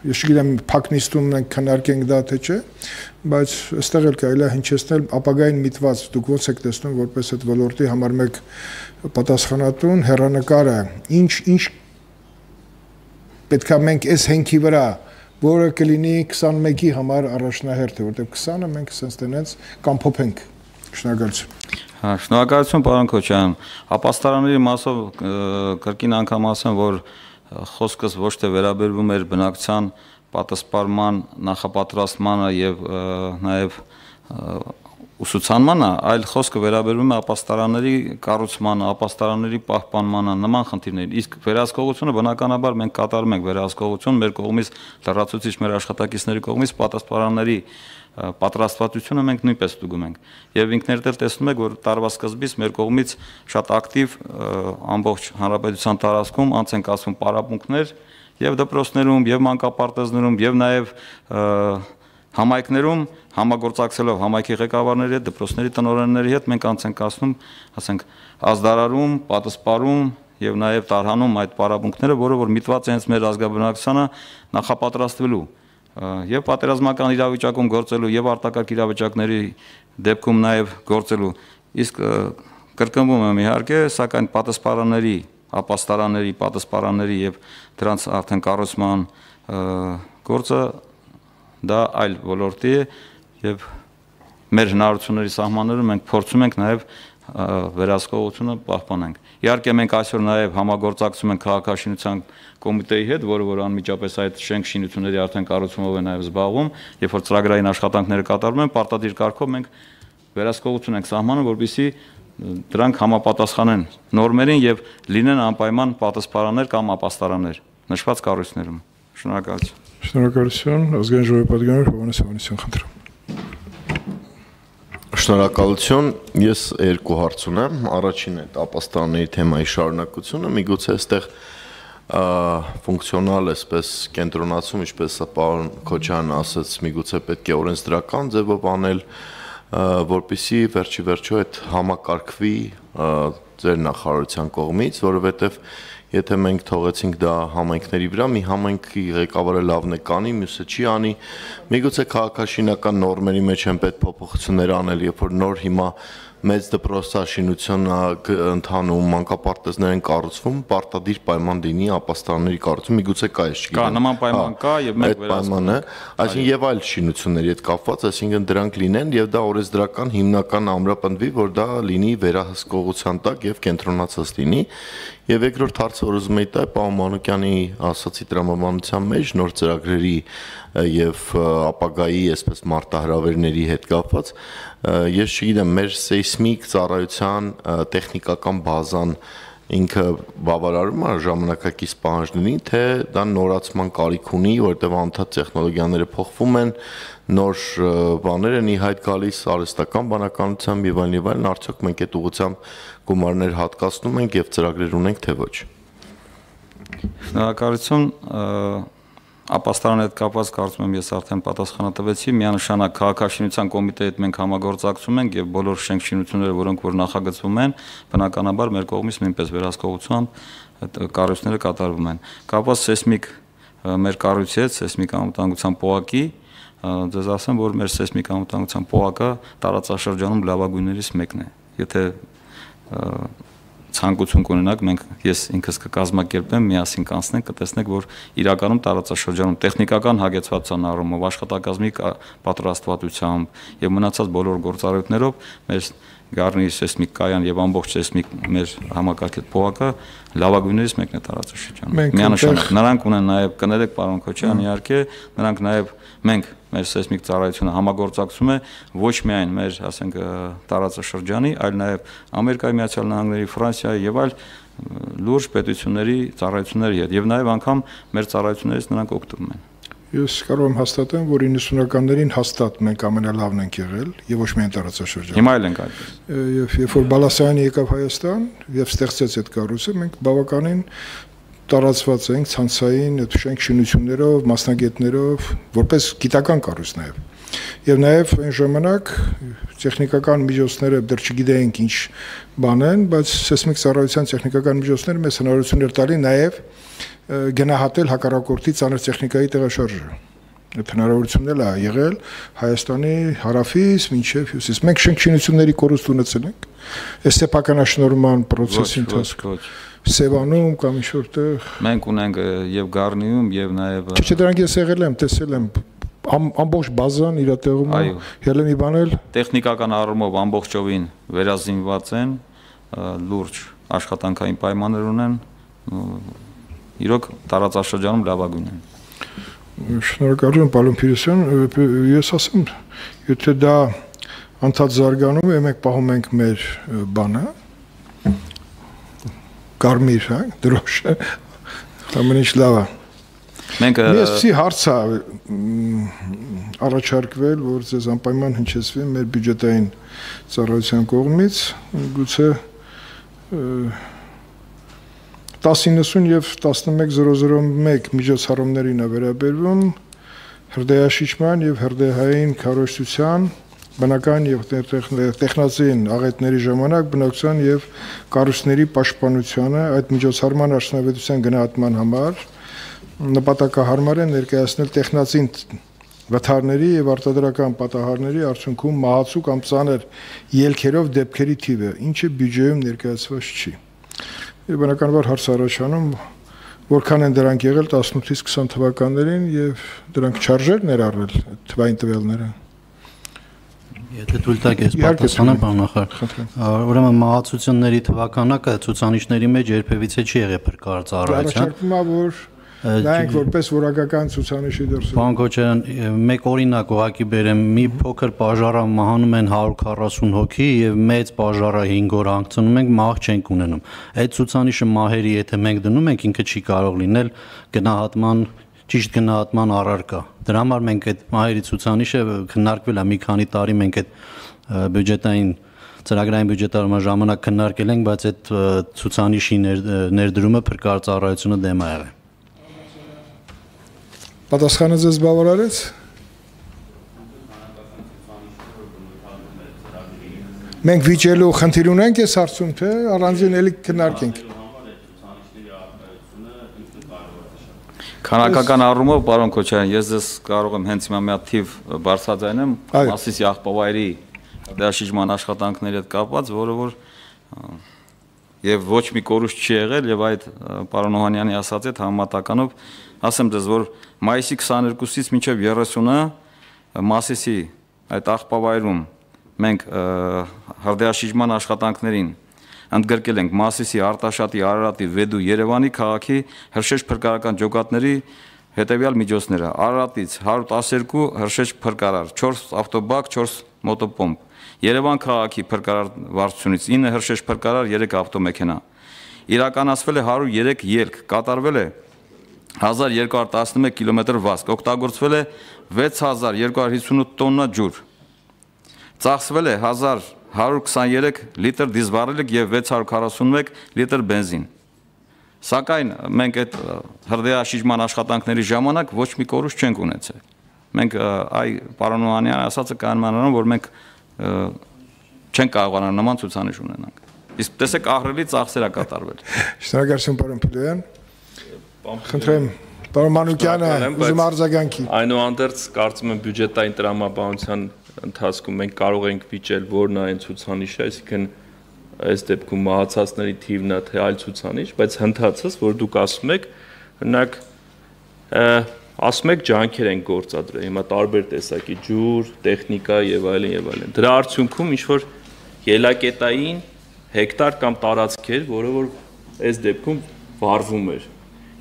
ես չգիտեմ փակնիստում մենք քննարկենք դա թե չէ, բայց այստեղ էլ կարելի է հնչեցնել ապագային միտված, դուք ոնց եք տեսնում որպես այդ ոլորտի համար մեկ պատասխանատուն հեռանկարը, ինչ ինչ պետք է մենք այս հենքի վրա, որը կլինի քսանմեկի համար առաջնահերթ է, որտեղ քսանը մենք sense տենենց կամ փոփենք։ Շնորհակալություն։ Հա, շնորհակալություն պարոն Քոչարյան։ Ապաստարանների մասով կրկին անգամ ասեմ, որ խոսքս ոչ թե վերաբերվում էր բնակչության պատասպարման նախապատրաստմանը եւ նաեւ ուսուցանմանը, այլ խոսքը վերաբերվում է ապաստարանների կառուցմանը, ապաստարանների պահպանմանը, նման խնդիրներին։ Իսկ վերահսկողությունը բնականաբար մենք կատարում ենք վերահսկողություն մեր կողմից լրացուցիչ մեր աշխատակիցների կողմից պատասպարանների պատրաստվածությունը մենք նույնպես ստուգում ենք եւ ինքներդ էլ տեսնում եք որ տարվա սկզբից մեր կողմից շատ ակտիվ ամբողջ հանրապետության տարածքում անց են կացվում պարապմունքներ եւ դպրոցներում եւ մանկապարտեզներում եւ նաեւ համայնքներում համագործակցելով համայնքի ղեկավարների հետ դպրոցների տնօրենների հետ մենք անց ենք կացնում ասենք ազդարարում պատասպարում եւ նաեւ տարհանում այդ պարապմունքները որը որ միտված է հենց մեր ազգաբնակչությանը նախապատրաստվելու եւ պատերազմական իրավիճակում գործելու եւ արտակարգ իրավիճակների դեպքում նաեւ գործելու իսկ կրկնվում եմ իհարկե սակայն պատասպարանների ապաստարանների պատասպարանների եւ դրանց արդեն կառուցման գործը դա այլ ոլորտի է եւ մեր հնարավորությունների սահմաններում մենք փորձում ենք նաեւ վերահսկողությունը պահպանենք իհարկե մենք այսօր նաեւ համագործակցում ենք քաղաքաշինության կոմիտեի հետ, որը որ անմիջապես այդ շենք շինությունների արդեն կառուցումով է նաև զբաղվում, երբ որ ծրագրային աշխատանքները կատարվում են, պարտադիր կարգով մենք վերահսկողություն ենք սահմանում, որպեսզի դրանք համապատասխանեն նորմերին եւ լինեն անպայման պատասպարաններ կամ ապաստարաններ նշված կառույցներում։ Շնորհակալություն։ Շնորհակալություն, ազգային ժողովի պատգամավոր Հովհաննես Հովհաննիսյան խնդրում։ Շնորհակալություն, ես երկու հարց ունեմ, առաջինը ապաստարանների թեմայի շարունակությունը, միգուցե այստեղ ֆունկցիոնալ էսպես կենտրոնացում, ինչպես պարոն Քոչարյանն ասաց, միգուցե պետք է օրենսդրական ձևով անել, որպեսզի վերջի վերջո այդ համակարգվի ձեր նախարարության կողմից, որովհետև եթե մենք թողեցինք դա համայնքների վրա, մի համայնքի ղեկավարը լավն է կանի, մյուսը չի անի, միգուցե քաղաքաշինական նորմերի մեջ են պետք փոփոխություններ անել, երբ որ նոր հիմա մեծ դպրոցաշինություն ընթանում, մանկապարտեզներ են կառուցվում, պարտադիր պայման լինի ապաստարանների կառուցում, միգուցե կա էս չգիտեմ։ Կա նման պայման կա եւ մենք վերահսկում ենք, այսինքն եւ այլ շինությունների հետ կապված, այսինքն դրանք լինեն եւ դա օրենսդրական հիմնական ամրապնդվի, որ դա լինի վերահսկողության տակ եւ կենտրոնացած լինի։ Եվ երկրորդ հարցը, որ ուզում եի տալ, պարոն Մանուկյանի ասացի տրամաբանության մեջ նոր ծրագրերի եւ ապագայի, այսպես մարտահրավերների հետ կապված, ես չգիտեմ, մեր սեյսմիկ ծառայության տեխնիկական բազան ինքը բավարարում է ժամանակակից պահանջներին, թե դա նորացման կարիք ունի, որտեղ անդադ տեխնոլոգիաները փոխվում են, նոր բաներ են ի հայտ գալիս արհեստական բանականությամբ եւ այլն եւ այլն, արդյոք մենք այդ ուղղությամբ գումարներ հատկացնում ենք եւ ծրագրեր ունենք, թե ոչ։ Շնորհակալություն, ապաստարանի հետ կապված կարծում եմ ես արդեն պատասխանը տվեցի, միանշանակ քաղաքաշինության կոմիտեի հետ մենք համագործակցում ենք եւ բոլոր շենքշինությունները, որոնք որ նախագծվում են, բնականաբար մեր կողմից նույնպես վերահսկողությամբ այդ կառույցները կատարվում են։ Կապված սեյսմիկ մեր կառույցի հետ, սեյսմիկ անվտանգության պոակի, ձեզ ասեմ, որ մեր սեյսմիկ անվտանգության պոակը տարածաշրջանում լավագույններից մեկն է։ Եթե ցանկություն կունենաք, մենք ես ինքս կկազմակերպեմ, միասին կանցնենք, կտեսնենք, որ իրականում տարածաշրջանում տեխնիկական հագեցվածության առումով, աշխատակազմի պատրաստվածությամբ եւ մնացած բոլոր գործառույթներով մեր Գառնի սեյսմիկ կայան եւ ամբողջ սեյսմիկ մեր համակարգի փողակը լավագույններից մեկն է տարածաշրջանում։ Միանշանակ նրանք ունեն նաեւ կներեք պարոն Քոչյան, իհարկե, նրանք նաեւ մենք մեր սեյսմիկ ծառայությունը համագործակցում է ոչ միայն մեր, ասենք, տարածաշրջանի, այլ նաեւ Ամերիկայի Միացյալ Նահանգների, Ֆրանսիայի եւ այլ լուրջ պետությունների ծառայությունների հետ եւ նաեւ անգամ մեր ծառայություններից նրանք օգտվում են։ Ես կարող եմ հաստատեմ, որ իննսունականներին հաստատ մենք ամենալավն ենք եղել եւ ոչ միայն տարածաշրջանում։ Հիմա էլ ենք այդպես։ Եվ երբ որ Բալասյանը եկավ Հայաստան եւ ստեղծեց այդ կառույցը, մենք բավականին տարածված ենք ցանցային այդ շենքշինություններով, մասնագետներով, որպես գիտական կառույց նաեւ։ Եվ նաեւ այն ժամանակ տեխնիկական միջոցները դեռ չգիտեինք ինչ բան են, բայց սեյսմիկ ծառայության տեխնիկական միջոցները մեզ հնարավորություն էր տալի նաեւ գնահատել հակառակորդի ծանր տեխնիկայի տեղաշարժը։ Այդ հնարավորությունն էլ է եղել Հայաստանի հարավից մինչև հյուսիս։ Մենք շենքշինությունների կորուստ ունեցել ենք։ Այս սեփականաշնորհման process-ի ընթացքում Սևանում կամ ինչ-որտեղ մենք ունենք եւ Գառնիում եւ նաեւ Չէ, դրանք ես եղել եմ, տեսել եմ ամբողջ բազան իր տեղում է։ Ելը մի բան էլ տեխնիկական առումով ամբողջովին վերազինված են, լուրջ աշխատանքային պայմաններ ունեն, իրոք տարածաշրջանում լավագույն են։ Շնորհակալ եմ, պարոն Փիրոսյան, ես ասեմ, եթե դա անդադ զարգանում է, մենք պահում ենք մեր բանը, կարմիր, հա, դրոշը, ամեն ինչ լավ է։ Մենք Այսպիսի հարց է առաջարկվել, որ ձեզ անպայման հնչեցվի մեր բյուջետային ծառայության կողմից, գուցե տասը իննսուն եւ տասնմեկ զրո զրո մեկ միջոցառումներին է վերաբերվում հրդեհաշիջման եւ հրդեհային քարոզչության բնական եւ տեխնացին աղետների ժամանակ բնակության եւ կառույցների պաշտպանությանը այդ միջոցառման արդյունավետության գնահատման համար նպատակահարմար է ներկայացնել տեխնացին վթարների եւ արտադրական պատահարների արդյունքում մահացու կամ ծանր ելքերով դեպքերի թիվը, ինչը բյուջեում ներկայացված չի։ Եվ բնականաբար հարց առաջանում, որքան են դրանք եղել տասնութից քսան թվականներին եւ դրանք չարժեր ներառվել թվային տվյալները։ Եթե թույլ տաք ես պատասխանեմ, պարոն նախարար։ Ուրեմն մահացությունների թվականակը ցուցանիշների մեջ երբևիցե չի եղել փրկարար ծառայության։ Առաջարկվում է, որ Նայենք որպես որակական ցուցանիշի դրսևորում։ Պարոն Քոչարյան, մեկ օրինակ ուղղակի բերեմ, մի փոքր պաժարը մահանում են հարյուր քառասուն հոգի եւ մեծ պաժարը հինգ օր հանգցնում ենք, մահ չենք ունենում։ Այդ ցուցանիշը մահերի եթե մենք դնում ենք, ինքը չի կարող լինել գնահատման ճիշտ գնահատման առարկա։ Դրա համար մենք այդ մահերի ցուցանիշը քննարկվել է մի քանի տարի, մենք այդ բյուջետային ծրագրային բյուջետարման ժամանակ քննարկել ենք, բայց այդ ցուցանիշի ներդրումը փրկարար ծառայությունը դեմ է եղել։ Պատասխանը ձեզ բավարարեց։ Մենք վիճելու խնդիր ունենք այս հարցում, թե առանձին էլի քննարկենք։ Քանակական առումով, պարոն Քոչարյան, ես ձեզ կարող եմ հենց հիմա մի հատ թիվ բարձրաձայնեմ, Մասիսի աղբավայրի հրաշիջման աշխատանքների հետ կապված, որը որ եւ ոչ մի կորուստ չի եղել եւ այդ պարոն Օհանյանի ասած այդ համեմատականով ասեմ դες որ մայիսի քսաներկուսից մինչեւ երեսունը Մասիսի այդ աղբավայրում մենք հրդեհաշիջման աշխատանքներին ընդգրկել ենք Մասիսի, Արտաշատի, Արարատի, Վեդու, Երևանի քաղաքի հրշեջ փրկարարական ջոկատների հետեւյալ միջոցները Արարատից հարյուր տասներկու հրշեջ փրկարար, չորս ավտոբակ, չորս մոտոպոմպ Երևան քաղաքի փրկարար վարչությունից ինը հրշեջ փրկարար, երեք ավտոմեքենա իրականացվել է հարյուր երեք ելք, կատարվել է հազար երկու հարյուր տասնմեկ կիլոմետր վազք, օգտագործվել է վեց հազար երկու հարյուր հիսունութ տոննա ջուր, ծախսվել է հազար հարյուր քսաներեք լիտր դիզվառելիք եւ վեց հարյուր քառասունմեկ լիտր բենզին։ Սակայն մենք այդ հրդեհաշիջման աշխատանքների ժամանակ ոչ մի կորուստ չենք ունեցել։ Մենք այ պարոն Օհանյանը ասածը կանոնանալով որ մենք չենք կարողանալ նման ցուցանիշ ունենանք։ Իսկ տեսեք ահռելի ծախսեր է կատարվել։ Շնորհակալություն պարոն Փիլոյան։ Խնդրեմ պարոն Մանուկյանը ուզում արձագանքի։ Այնուհանդերձ կարծում եմ բյուջետային տրամաբանության ընթացքում մենք կարող ենք վիճել որն է այն ցուցանիշը, այսինքն այս դեպքում մահացածների թիվն է թե այլ ցուցանիշ, բայց հնդածս, որ դուք ասում եք, օրինակ ասում եք ջանքեր են գործադրել, հիմա տարբեր տեսակի ջուր, տեխնիկա եւ այլն եւ այլն։ Դրա արդյունքում ինչ որ ելակետային հեկտար կամ տարածք էր, որը որ այս դեպքում վառվում էր։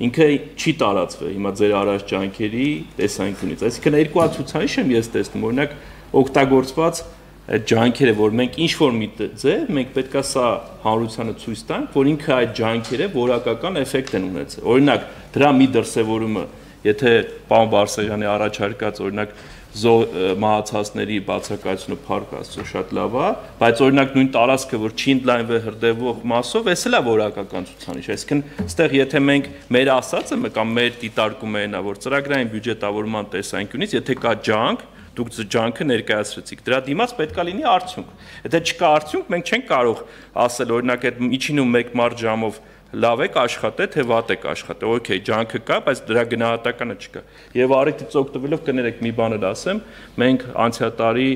Ինքը չի տարածվել հիմա ձեր առաջ ջանքերի տեսանկյունից։ Այսինքն երկու հատ ցուցանիշ եմ ես տեսնում, օրինակ օգտագործված այդ ջանքերը, որ մենք ինչ որ մի ձև, մենք պետքա սա հանրությանը ցույց տանք, որ ինքը այդ ջանքերը որակական էֆեկտ են ունեցել։ Օրինակ, դրա մի դրսևորումը, եթե պարոն Բարսեղյանի առաջարկած օրինակ մահացածների բացակայությունը փառք Աստծո շատ լավ է, բայց օրինակ նույն տարածքը, որ չի ընդլայնվել հրդեհվող մասով, էս էլ է որակական ցուցանիշ։ Այսինքն, այստեղ եթե մենք մեր ասածը կամ մեր դիտարկումը այնա, որ ծրագրային բյուջետավորման տեսանկյունից, եթե կա ջանք, դուք ջանքը ներկայացրեցիք, դրա դիմաց պետք է լինի արդյունք։ Եթե չկա արդյունք, մենք չենք կարող ասել, օրինակ այդ միջինում մեկ մարդ ժամով լավ եք աշխատել, թե վատ եք աշխատել, օքեյ, ջանքը կա, բայց դրա գնահատականը չկա։ Եվ առիթից օգտվելով կներեք մի բան էլ ասեմ, մենք անցյալ տարի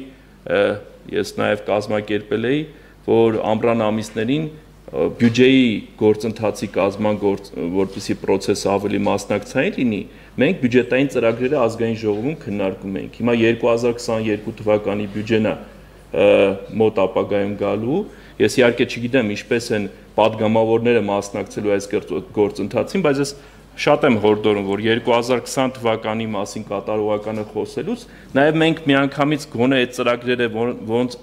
ես նաև կազմակերպել էի, որ ամռան ամիսներին բյուջեի գործընթացի կազման որպեսզի process-ը ավելի մասնակցային լինի, մենք բյուջետային ծրագրերը ազգային ժողովում քննարկում ենք։ Հիմա երկու հազար քսաներկու թվականի բյուջեն է մոտ ապագայում գալու։ Ես իհարկե չգիտեմ ինչպես են падգամավորները մասնակցելու այս գործընթացին, բայց ես շատ եմ հորդորում, որ երկու հազար քսան թվականի մասին կատարողականը խոսելուց, նաև մենք միանգամից գոնե այդ ծրագրերը ոնց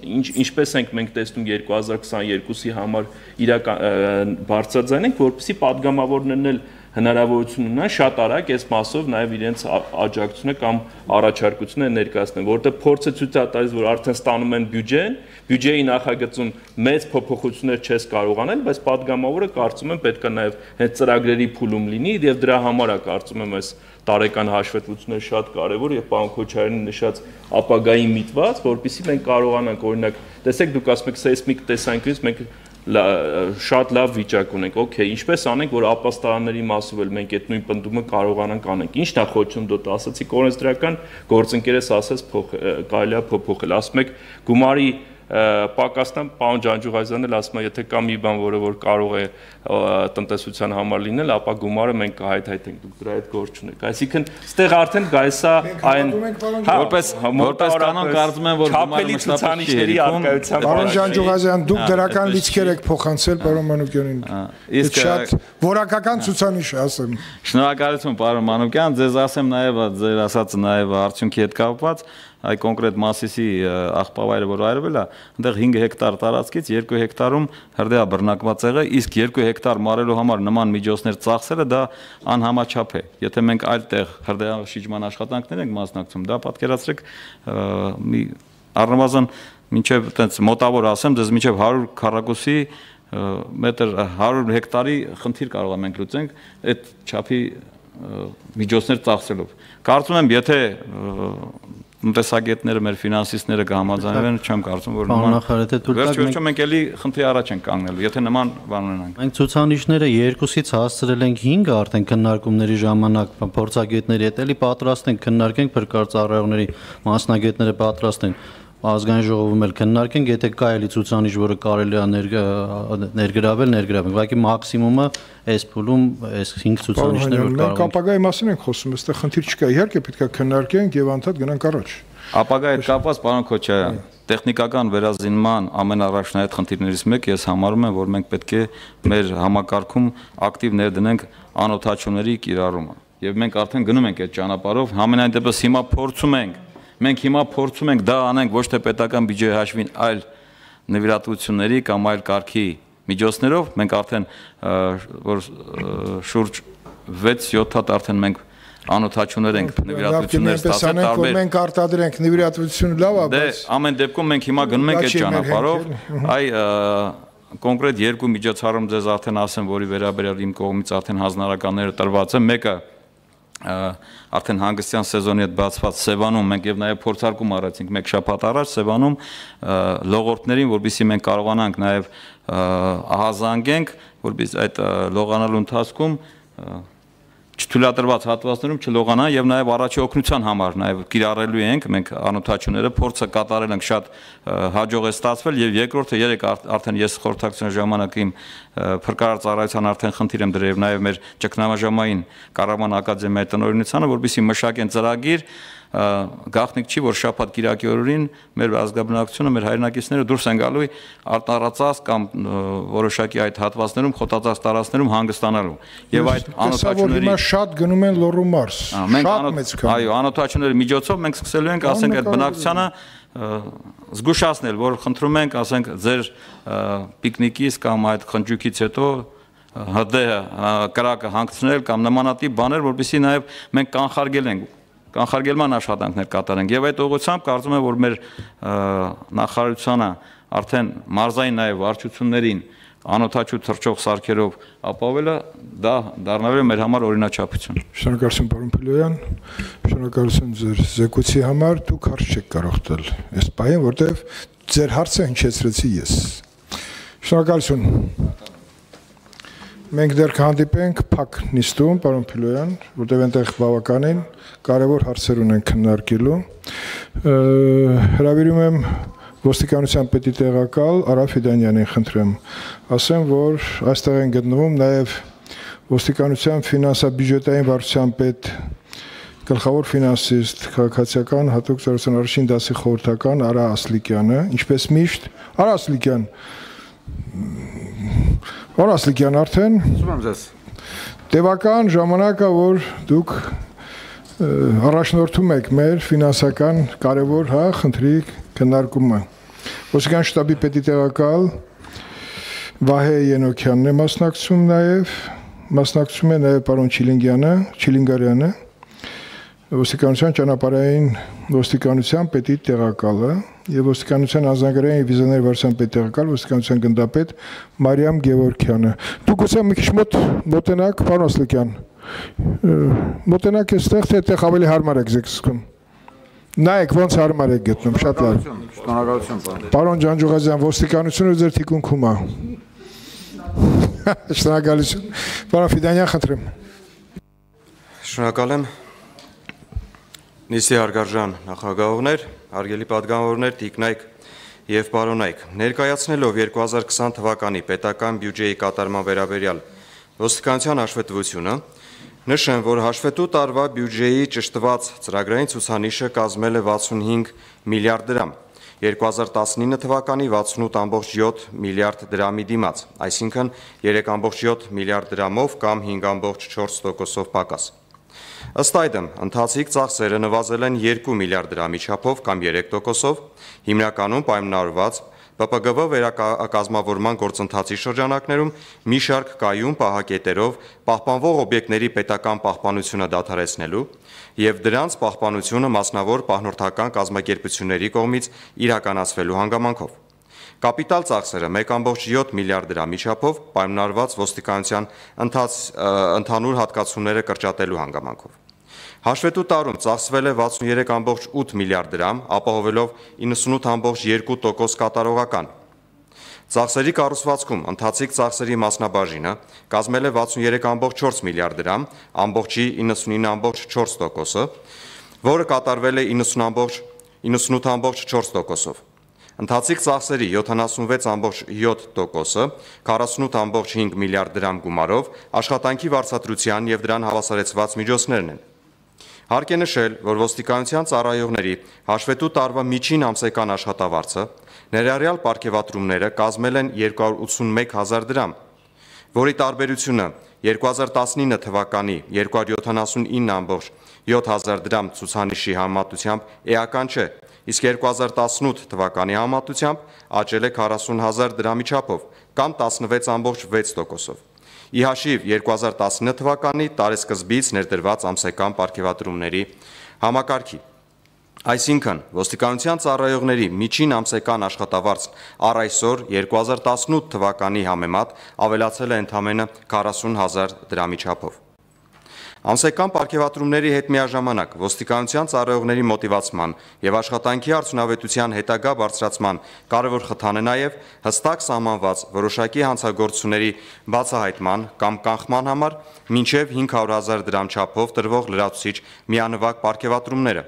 ինչպես ենք մենք տեսնում երկու հազար քսաներկուսի համար իրական բարձրաձայնենք, որպեսզի падգամավորներն էլ հնարավորություն ունենան շատ արագ այս մասով նաև իրենց աջակցությունը կամ առաջարկությունը ներկայացնեն, որտեղ փորձը ցույց է տալիս, որ արդեն ստանում են բյուջեն, բյուջեի նախագծում մեծ փոփոխություններ չես կարող անել, բայց падգամավորը կարծում եմ պետք է նաև հենց ծրագրերի փուլում լինի եւ դրա համար է կարծում եմ այս տարեկան հաշվետվությունները շատ կարեւոր եւ պարոն Քոչարյանի նշած ապագայի միտված, որpիսի մենք կարողանանք օրինակ, տեսեք դուք ասում եք սեյսմիկ տեսանկյունից մենք շատ լավ վիճակ ունենք, օքեյ, ինչպես անենք, որ ապաստարանների մասով էլ մենք այդ նույն պնդումը կարողանանք անենք։ Ինչն է խոչընդոտը, ասացիք օրենսդրական գործընկերս ասես կարելի է փոփոխել, ասում եք գումարի պակասն պարոն Ջանջուղազյանն էլ ասում է, եթե կա մի բան, որը որ կարող է տնտեսության համար լինել, ապա գումարը մենք կհայթայթենք, դուք դրա հետ գործ չունեք։ Այսինքն, ստեղ արդեն գայս է այն որպես որպես կանոն կարծում եմ, որ գումարը ցուցանիշների արկայության պարոն Ջանջուղազյան, դուք դրական լիցքեր եք փոխանցել պարոն Մանուկյանին։ Իսկ շատ որակական ցուցանիշ է, ասեմ։ Շնորհակալություն պարոն Մանուկյան, ձեզ ասեմ նաև ձեր ասածը նաև արդյունքի հետ կապված այ կոնկրետ Մասիսի աղբավայրը որ այրվել է, այնտեղ հինգ հեկտար տարածքից երկու հեկտարում հրդեհ բռնակված եղել, իսկ երկու հեկտար մարելու համար նման միջոցներ ծախսելը դա անհամաչափ է։ Եթե մենք այլ տեղ հրդեհաշիջման աշխատանքներ ենք մասնակցում, դա պատկերացրեք մի առնվազն մինչև այտենց մոտավոր ասեմ, դες մինչև հարյուր քառակուսի մետր հարյուր հեկտարի խնդիր կարող ենք լուծենք այդ չափի միջոցներ ծախսելով։ Կարծում եմ, եթե տնտեսագետները, մեր ֆինանսիստները կհամաձայնվեն, չեմ կարծում, որ նման վերջ-վերջում մենք էլի խնդրի առաջ ենք կանգնելու, եթե նման բան ունենանք։ Մենք ցուցանիշները երկուսից հասցրել ենք հինգը արդեն քննարկումների ժամանակ փորձագետների հետ էլի պատրաստ ենք քննարկենք փրկարծառայողների մասնագետները պատրաստ են ազգային ժողովում էլ քննարկենք, եթե կա էլի ցուցանիշ, որը կարելի է ներգրավել, ներգրավենք։ Ուղղակի մաքսիմումը այս փուլում այս հինգ ցուցանիշներ որ կարող ենք։ Ապագայի մասին ենք խոսում, այստեղ խնդիր չկա։ Իհարկե պետք է քննարկենք եւ անդադ գնանք առաջ։ Ապագայի հետ կապված, պարոն Քոչարյան, տեխնիկական վերազինման ամենառաջնահայտ խնդիրներից մեկը ես համարում եմ, որ մենք պետք է մեր համակարգում ակտիվ ներդնենք անօթաչուների կիրառումը։ Եվ մենք արդեն գնում ենք այդ ճանապարհով, համենայն դեպս հիմա փորձում ենք, մենք հիմա փորձում ենք դա անենք ոչ թե պետական բյուջեի հաշվին, այլ նվիրատվությունների կամ այլ կարգի միջոցներով, մենք արդեն որ շուրջ վեց-յոթ հատ արդեն մենք անօթաչուներ ենք նվիրատվություններ ստացել տարբեր։ Մենք արտադրենք նվիրատվությունը լավ է, բայց ամեն դեպքում մենք հիմա գնում ենք այդ ճանապարհով, այ կոնկրետ երկու միջոցառում ձեզ արդեն ասեմ, որի վերաբերյալ իմ կողմից արդեն հանձնարարականները տրված են, մեկը արդեն հանգստյան սեզոնի հետ բացված Սևանում մենք եւ նաեւ փորձարկում արեցինք մեկ շաբաթ առաջ Սևանում լողորդներին, որովհետեւ մենք կարողանանք նաեւ ահազանգենք, որովհետեւ այդ լողանալու ընթացքում չթույլատրված հատվածներում չլողանան եւ նաեւ առաջի օգնության համար նաեւ կիրառելու ենք մենք անօթաչուները փորձը կատարել ենք շատ հաջող է ստացվել եւ երկրորդը երեք արդեն ես խորհրդակցության ժամանակ իմ փրկարար ծառայության արդեն խնդիր եմ դրել նաեւ մեր ճգնամաժամային Կառավարման ակադեմիայի տնօրինությանը որպեսզի մշակեն ծրագիր գաղտնիք չի որ շաբաթ կիրակի օրերին մեր ազգաբնակությունը մեր հայրենակիցները դուրս են գալու արտարածած կամ որոշակի այդ հատվածներում խոտածած տարածքներում հանգստանալու եւ այդ անօթաչուների շատ գնում են Լոռու մարզ շատ մեծ քան այո անօթաչուների միջոցով մենք սկսելու ենք ասենք այդ բնակչությանը զգուշացնել որ խնդրում ենք ասենք ձեր պիկնիկից կամ այդ խնջույքից հետո հդե կրակը հանգցնել կամ նմանատիպ բաներ որովհետեւ նաեւ մենք կանխարգել ենք կանխարգելման աշխատանքներ կատարենք եւ այդ ուղղությամբ կարծում եմ որ մեր նախարարությունը արդեն մարզային նաեւ վարչություններին անօթաչու թռչող սարքերով ապավելը դա դառնալու է մեր համար օրինաչափություն։ Շնորհակալություն պարոն Փիլոյան, շնորհակալություն ձեր զեկույցի համար, դուք հարց չեք կարող տալ այս պահին, որտեղ ձեր հարցը հնչեցրեցի ես։ Շնորհակալություն։ Մենք դեռ կհանդիպենք փակ նիստում, պարոն Փիլոյան, որտեղ այնտեղ բավականին կարևոր հարցեր ունենք քննարկելու։ Հրավիրում եմ ոստիկանության պետի տեղակալ Արա Ֆիդանյանին խնդրեմ, ասեմ, որ այստեղ են գտնվում նաև ոստիկանության ֆինանսա-բյուջետային վարչության պետ գլխավոր ֆինանսիստ, քաղաքացիական հատուկ ծառայության առաջին դասի խորհրդական Արա Ասլիկյանը, ինչպես միշտ, Արա Ասլիկյան, Պարոն Ասլիկյան, արդեն տևական ժամանակը, որ դուք առաջնորդում եք մեր ֆինանսական կարևոր հա խնդրի քննարկումը։ Ոստիկանության շտաբի պետի տեղակալ Վահե Ենոքյանն է մասնակցում նաև, մասնակցում է նաև պարոն Չիլինգյանը, Չիլինգարյանը, ոստիկանության ճանապարհային ոստիկանության պետի տեղակալը եւ ոստիկանության ազգագրային վիզաների վարչության պետ տեղակալ ոստիկանության գնդապետ Մարիամ Գևորգյանը։ Դուք ուսեմ մի քիչ մոտ մոտենակ, պարոն Ասլիկյան։ Մոտենակ էստեղ թե այդտեղ ավելի հարմար եք զգում։ Նայեք ոնց հարմար եք գտնում, շատ լավ։ Շնորհակալություն, պարոն։ Պարոն Ջանջուղազյան, ոստիկանությունը ձեր թիկունքում է։ Շնորհակալություն։ Պարոն Ֆիդանյան, խնդրեմ։ Շնորհակալ եմ։ Նիստի հարգարժան նախագահողներ, հարգելի պատգամավորներ, տիկնայք եւ պարոնայք, ներկայացնելով երկու հազար քսան թվականի պետական բյուջեի կատարման վերաբերյալ ոստիկանության հաշվետվությունը, նշեմ, որ հաշվետու տարվա բյուջեի ճշտված ծրագրային ցուցանիշը կազմել է վաթսունհինգ միլիարդ դրամ, երկու հազար տասնինը թվականի վաթսունութ կόμμα յոթ միլիարդ դրամի դիմաց, այսինքն երեք կόμμα յոթ միլիարդ դրամով կամ հինգ կόμma չորս տոկոսով պակաս։ Ըստ այդմ, ընթացիկ ծախսերը նվազել են երկու միլիարդ դրամի չափով կամ երեք տոկոսով, հիմնականում պայմանավորված Պ Պ Գ V վերակազմավորման գործընթացի շրջանակներում մի շարք կայուն պահակետերով պահպանվող օբյեկտների պետական պահպանությունը դադարեցնելու եւ դրանց պահպանությունը մասնավոր պահնորդական կազմակերպությունների կողմից իրականացվելու հանգամանքով։ Կապիտալ ծախսերը մեկ կόμμα յոթ միլիարդ դրամի չափով պայմանավորված ոստիկանության ընդհանուր հատկացումները կրճատելու հանգամանքով։ Հաշվետու տարում ծախսվել է վաթսուներեք կόμμα ութ միլիարդ դրամ, ապահովելով իննսունութ կόμμα երկու տոկոս կատարողական։ Ծախսերի կառուցվածքում ընթացիկ ծախսերի մասնաբաժինը կազմել է վաթսուներեք կόμμα չորս միլիարդ դրամ, ամբողջի իննսունինը կόμma չորս տոկոսը, որը կատարվել է իննսուն կόμma իննսունութ ամբողջ չորս տոկոսով։ Ընթացիկ ծախսերի յոթանասունվեց ամբողջ յոթ տոկոսը, քառասունութ ամբողջ հինգ միլիարդ դրամ գումարով աշխատանքի վարձատրության եւ դրան հավասարեցված միջոցներն են։ Հարկ է նշել, որ ոստիկանության ծառայողների հաշվետու տարվա միջին ամսական աշխատավարձը ներառյալ պարգևատրումները կազմել են երկու հարյուր ութսունմեկ հազար դրամ, որի տարբերությունը երկու հազար տասնինը թվականի երկու հարյուր յոթանասունինը ամբողջ յոթ հազար դրամ ցուցանիշի համեմատությամբ էական չէ, իսկ երկու հազար տասնութ թվականի համեմատությամբ աճել է քառասուն հազար դրամի չափով կամ տասնվեց ամբողջ վեց տոկոսով։ Ի հաշիվ երկու հազար տասնինը թվականի տարեսկզբից ներդրված ամսական պարգևատրումների համակարգի։ Այսինքն, ոստիկանության ծառայողների միջին ամսական աշխատավարձն առ այսօր երկու հազար տասնութ թվականի համեմատ ավելացել է ընդամենը քառասուն հազար դրամի չափով։ Ամսական պարգևատրումների հետ միաժամանակ ոստիկանության ծառայողների մոտիվացման եւ աշխատանքի արդյունավետության հետագա բարձրացման կարևոր խթան է նաեւ հստակ սահմանված որոշակի հանցագործությունների բացահայտման կամ կանխման համար մինչեւ հինգ հարյուր հազար դրամ չափով տրվող լրացուցիչ միանվագ պարգևատրումները։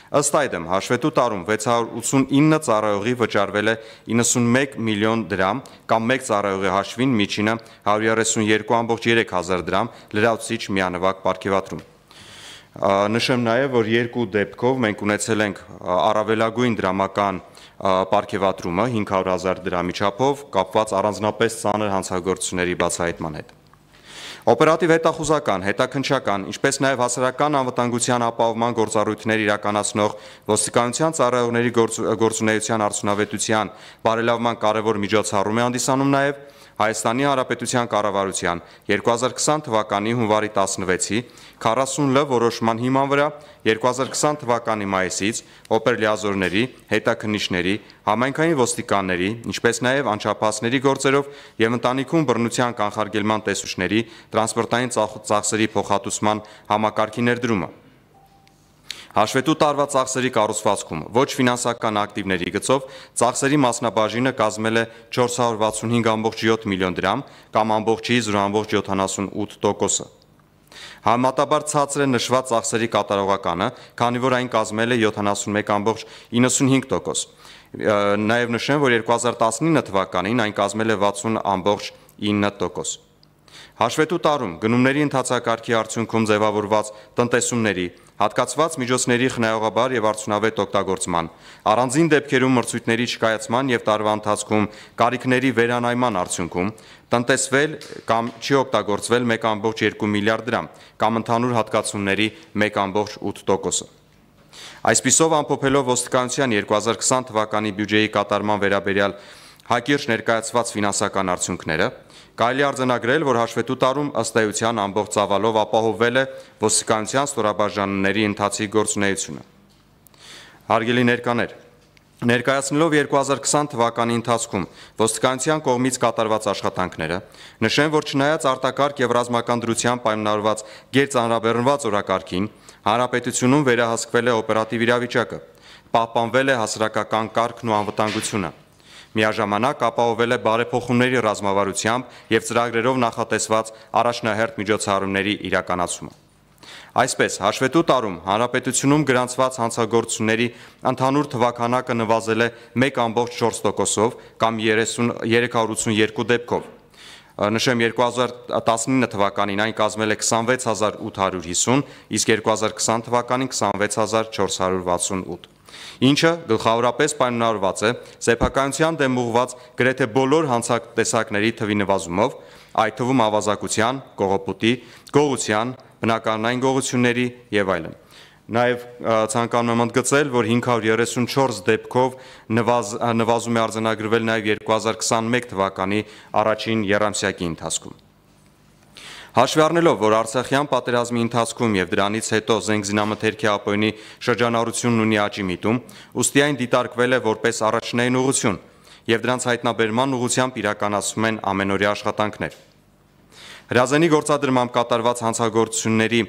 Ըստ այդմ, հաշվետու տարում վեց հարյուր ութսունինը ծառայողի վճարվել է իննսունմեկ միլիոն դրամ կամ մեկ ծառայողի հաշվին միջինը հարյուր երեսունյոթ ամբողջ երեք հազար դրամ լրացուցիչ միանվագ պարգևատրում։ Նշեմ նաև, որ երկու դեպքով մենք ունեցել ենք առավելագույն դրամական պարգևատրումը հինգ հարյուր հազար դրամի չափով կապված առանձնապես ծանր հանցագործությունների բացահայտման հետ։ Օպերատիվ հետախուզական, հետաքննչական, ինչպես նաև հասարակական անվտանգության ապահովման գործառույթներ իրականացնող ոստիկանության ծառայողների գործունեության արդյունավետության բարելավման կարևոր միջոցառում է հանդիսանում նաև Հայաստանի Հանրապետության կառավարության երկու հազար քսան թվականի հունվարի տասնվեցի քառասուն լը որոշման հիման վրա երկու հազար քսան թվականի մայիսից օպերլիազորների, հետաքննիչների, համայնքային ոստիկանների, ինչպես նաև անչափահասների գործերով եւ ընտանիքում բռնության կանխարգելման տեսուչների տրանսպորտային ծախսերի փոխհատուցման համակարգի ներդրումը։ Հաշվետու տարվա ծախսերի կառուցվածքում ոչ ֆինանսական ակտիվների գծով ծախսերի մասնաբաժինը կազմել է չորս հարյուր վաթսունհինգ ամբողջ յոթ միլիոն դրամ կամ ամբողջի զրո ամբողջ յոթանասունութ տոկոսը։ Համեմատաբար ցածր է նշված ծախսերի կատարողականը, քանի որ այն կազմել է յոթանասունմեկ ամբողջ իննսունհինգ տոկոս։ Նաև նշեմ, որ երկու հազար տասնինը թվականին այն կազմել է վաթսուն ամբողջ ինը տոկոս։ Հաշվետու տարում գնումների ընթացակարգի արդյունքում ձևավորված տնտեսումների, հատկացված միջոցների խնայողաբար եւ արդյունավետ օգտագործման, առանձին դեպքերում մրցույթների չկայացման եւ տարվա ընթացքում կարիքների վերանայման արդյունքում տնտեսվել կամ չի օգտագործվել մեկ ամբողջ երկու միլիարդ դրամ կամ ընդհանուր հատկացումների մեկ ամբողջ ութ տոկոսը։ Այսպիսով ամփոփելով ոստիկանության երկու հազար քսան թվականի բյուջեի կատարման վերաբերյալ հակիրճ ներկայացված ֆինանսական արդյունքները, կարելի արձանագրել, որ հաշվետու տարում ըստ էության ամբողջ ծավալով ապահովվել է ոստիկանության ստորաբաժանումների ընթացիկ գործունեությունը։ Հարգելի ներկաներ, ներկայացնելով երկու հազար քսան թվականի ընթացքում ոստիկանության կողմից կատարված աշխատանքները, նշեմ, որ չնայած արտակարգ եւ ռազմական դրությամբ պայմանավորված գերծանրաբեռնված օրակարգին, հանրապետությունում վերահսկվել է օպերատիվ իրավիճակը, պահպանվել է հասարակական կարգն ու անվտանգությունը։ Միաժամանակ ապահովել է բարեփոխումների ռազմավարությամբ եւ ծրագրերով նախատեսված առաջնահերթ միջոցառումների իրականացումը։ Այսպես, հաշվետու տարում հանրապետությունում գրանցված հանցագործությունների ընդհանուր թվաքանակը նվազել է մեկ ամբողջ չորս տոկոսով կամ երեք հարյուր ութսունյոթ դեպքով։ Նշեմ, երկու հազար տասնինը թվականին այն կազմել է քսանվեց հազար ութ հարյուր հիսուն, իսկ երկու հազար քսան թվականին քսանվեց հազար չորս հարյուր վաթսունութ, ինչը գլխավորապես պայմանավորված է սեփականության դեմ ուղղված գրեթե բոլոր հանցատեսակների թվի նվազումով, այդ թվում ավազակության, կողոպուտի, գողության, բնականային գողությունների եւ այլն։ Նաև ցանկանում եմ ընդգծել, որ հինգ հարյուր երեսունչորս դեպքով նվազ, նվազում է արձանագրվել նաև երկու հազար քսանմեկ թվականի առաջին եռամսյակի ընթացքում։ Հաշվի առնելով, որ Արցախյան պատերազմի ընթացքում եւ դրանից հետո զենքզինամթերքի ապօրինի շրջանառությունն ունի աճի միտում, ուստի այն դիտարկվել է որպես առաջնային ուղղություն եւ դրանց հայտնաբերման ուղղությամբ իրականացվում են ամենօրյա աշխատանքներ։ Հրազենի գործադրմամբ կատարված հանցագործությունների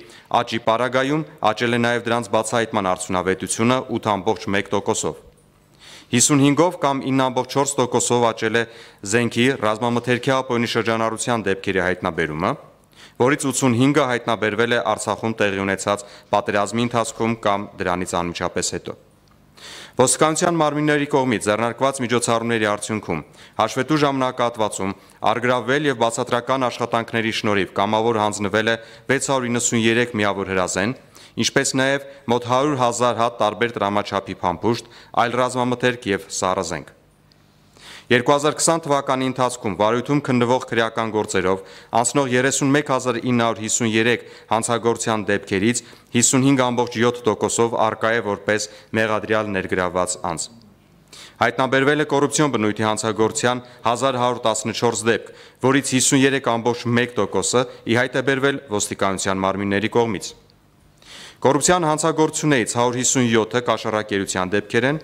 աճի պարագայում աճել է նաև դրանց բացահայտման արդյունավետությունը ութ ամբողջ մեկ տոկոսով։ հիսունհինգով կամ ինը ամբողջ չորս տոկոսով աճել է զենքի ռազմամթերքի ապօրինի շրջանառության դեպքերի հայտնաբերումը, որից ութսունհինգը հայտնաբերվել է Արցախում տեղի ունեցած պատերազմի ընթացքում կամ դրանից անմիջապես հետո։ Ոստիկանության մարմինների կողմից ձեռնարկված միջոցառումների արդյունքում հաշվետու ժամանակահատվածում առգրավվել եւ բացատրական աշխատանքների շնորհիվ կամավոր հանձնվել է վեց հարյուր իննսուներեք միավոր հրազեն, ինչպես նաեւ մոտ հարյուր հազար հատ տարբեր տրամաչափի փամփուշտ, այլ ռազմամթերք եւ սառնազենք։ երկու հազար քսան թվականի ընթացքում վարույթում քննվող քրեական գործերով անցնող երեսունմեկ հազար ինը հարյուր հիսուներեք հանցագործության դեպքերից հիսունհինգ կόμma յոթ տոկոսով առկա է որպես մեղադրյալ ներգրավված անձ։ Հայտնաբերվել է կոռուպցիոն բնույթի հանցագործության հազար հարյուր տասնչորս դեպք, որից հիսուներեք կόμma մեկ տոկոսը ի հայտ է բերվել ոստիկանության մարմինների կողմից։ Կոռուպցիան հանցագործություններից հարյուր հիսունյոթը կաշառակերության դեպքեր են,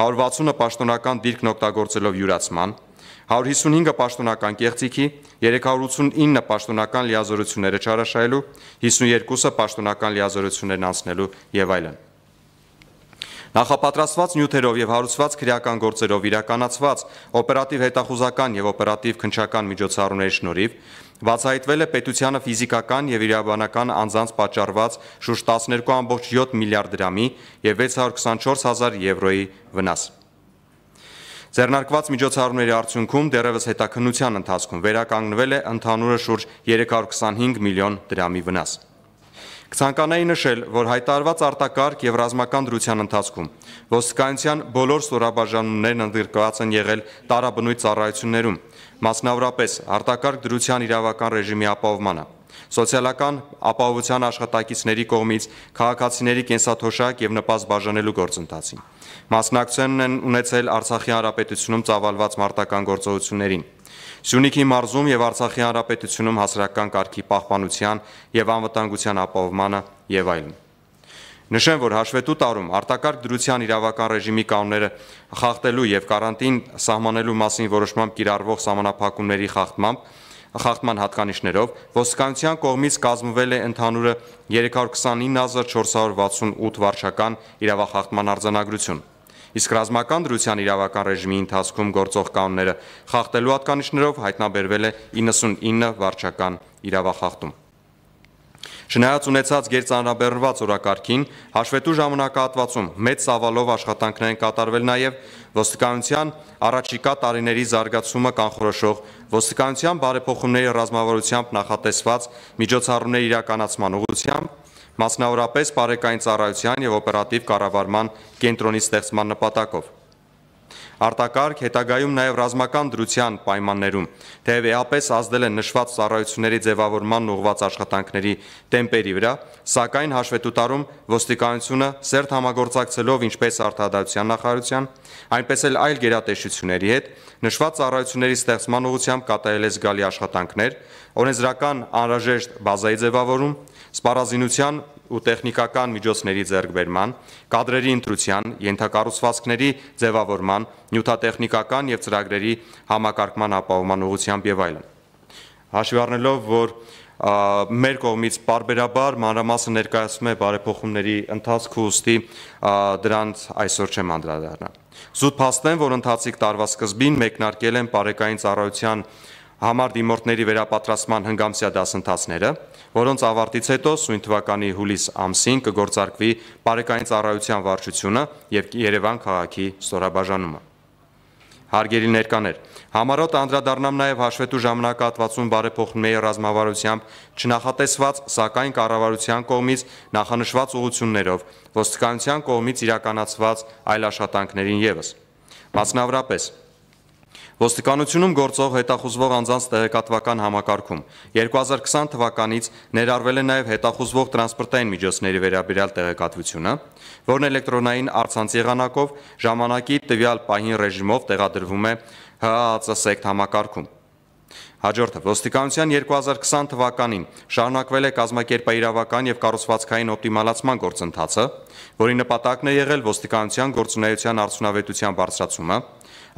հարյուր վաթսունը պաշտոնական դիրքն օգտագործելով յուրացման, հարյուր հիսունհինգը պաշտոնական կեղծիքի, երեք հարյուր ութսունինը պաշտոնական լիազորությունները չարաշահելու, հիսունյոթը պաշտոնական լիազորություններն անցնելու եւ այլն։ Նախապատրաստված նյութերով եւ հարուցված քրեական գործերով իրականացված օպերատիվ հետախուզական եւ օպերատիվ քննչական միջոցառումների շնորհիվ բացահայտվել է պետությանը ֆիզիկական եւ իրավաբանական անձանց պատճառված շուրջ տասներկու կόμma յոթ միլիարդ դրամի եւ վեց հարյուր քսանչորս հազար եվրոյի վնաս։ Ձեռնարկված միջոցառումների արդյունքում դեռևս հետաքննության ընթացքում վերականգնվել է ընդհանուրը շուրջ երեք հարյուր քսանհինգ միլիոն դրամի վնաս։ Կցանկանայի նշել, որ հայտարարված արտակարգ եւ ռազմական դրության ընթացքում ոստիկանության բոլոր ստորաբաժանումներն ընդգրկված են եղել տարաբնույթ ծառայություններում, մասնավորապես արտակարգ դրության իրավական ռեժիմի ապահովմանը, սոցիալական ապահովության աշխատակիցների կողմից քաղաքացիների կենսաթոշակ եւ նպաստ բաժանելու գործընթացին։ Մասնակցություն են ունեցել Արցախի հանրապետությունում ծավալված մարտական գործողություններին, Սյունիքի մարզում եւ Արցախի հանրապետությունում հասարակական կարգի պահպանության եւ անվտանգության ապահովմանը եւ այլն։ Նշեմ, որ հաշվետու տարում արտակարգ դրության իրավական ռեժիմի կանոնները խախտելու եւ կարանտին սահմանելու մասին որոշմամբ կիրառվող սահմանափակումների խախտմամբ խախտման հատկանիշներով ոստիկանության կողմից կազմվել է ընդհանուրը երեք հարյուր քսանինը հազար չորս հարյուր վաթսունութ վարչական իրավախախտման արձանագրություն, իսկ ռազմական դրության իրավական ռեժիմի ընթացքում գործող կանոնները խախտելու հատկանիշներով հայտնաբերվել է իննսունինը վարչական իրավախախտում։ Չնայած ունեցած գերծանրաբեռնված օրակարգին, հաշվետու ժամանակահատվածում մեծ ծավալով աշխատանքներ են կատարվել նաև ոստիկանության առաջիկա տարիների զարգացումը կանխորոշող ոստիկանության բարեփոխումների ռազմավարությամբ նախատեսված միջոցառումների իրականացման ուղղությամբ, մասնավորապես բարեկային ծառայության եւ օպերատիվ կառավարման կենտրոնի ստեղծման նպատակով։ Արտակարգ հետագայում նաև ռազմական դրության պայմաններում թեև էապես ազդել են նշված ծառայությունների ձևավորման ուղղված աշխատանքների տեմպերի վրա, սակայն հաշվետու տարում ոստիկանությունը սերտ համագործակցելով ինչպես արտադրության նախարարության, այնպես էլ այլ գերատեսչությունների հետ նշված ծառայությունների ստեղծման ուղղությամբ կատարել է զգալի աշխատանքներ, օրենսդրական անհրաժեշտ բազայի ձևավորում, սպառազինության ու տեխնիկական միջոցների ձեռքբերման, կադրերի ընտրության, ենթակառուցվածքների ձևավորման, նյութատեխնիկական եւ ծրագրերի համակարգման ապահովման ուղղությամբ եւ այլն։ Հաշվի առնելով, որ մեր կողմից պարբերաբար մանրամասն ներկայացում է բարեփոխումների ընթացքը, ուստի դրանց այսօր չեմ անդրադառնա։ Զուտ փաստեմ, որ ընթացիկ տարվա սկզբին մեկնարկել են բարեկային ծառայության համար դիմորդների վերապատրաստման հնգամսյա դասընթացները, որոնց ավարտից հետո սույն թվականի հուլիս ամսին կգործարկվի բարեկային ծառայության վարչությունը եւ Երևան քաղաքի ստորաբաժանումը։ Հարգելի ներկաներ, համառոտ անդրադառնամ նաև հաշվետու ժամանակահատվածում բարեփոխումների ռազմավարությամբ չնախատեսված, սակայն կառավարության կողմից նախանշված ուղղություններով ոստիկանության կողմից իրականացված այլ աշխատանքներին ևս։ Մասնավորապես ոստիկանությունում գործող հետախուզվող անձանց տեղեկատվական համակարգում երկու հազար քսան թվականից ներառվել է նաև հետախուզվող տրանսպորտային միջոցների վերաբերյալ տեղեկատվությունը, որն էլեկտրոնային առցանց եղանակով ժամանակի տվյալ պահին ռեժիմով տեղադրվում է Հ Ա Ծ սեկտ համակարգում։ Հաջորդը ոստիկանության երկու հազար քսան թվականին շարունակվել է կազմակերպաիրավական եւ կառուցվածքային օպտիմալացման գործընթացը, որի նպատակն է եղել ոստիկանության գործունեության արդյունավետության բարձրացումը,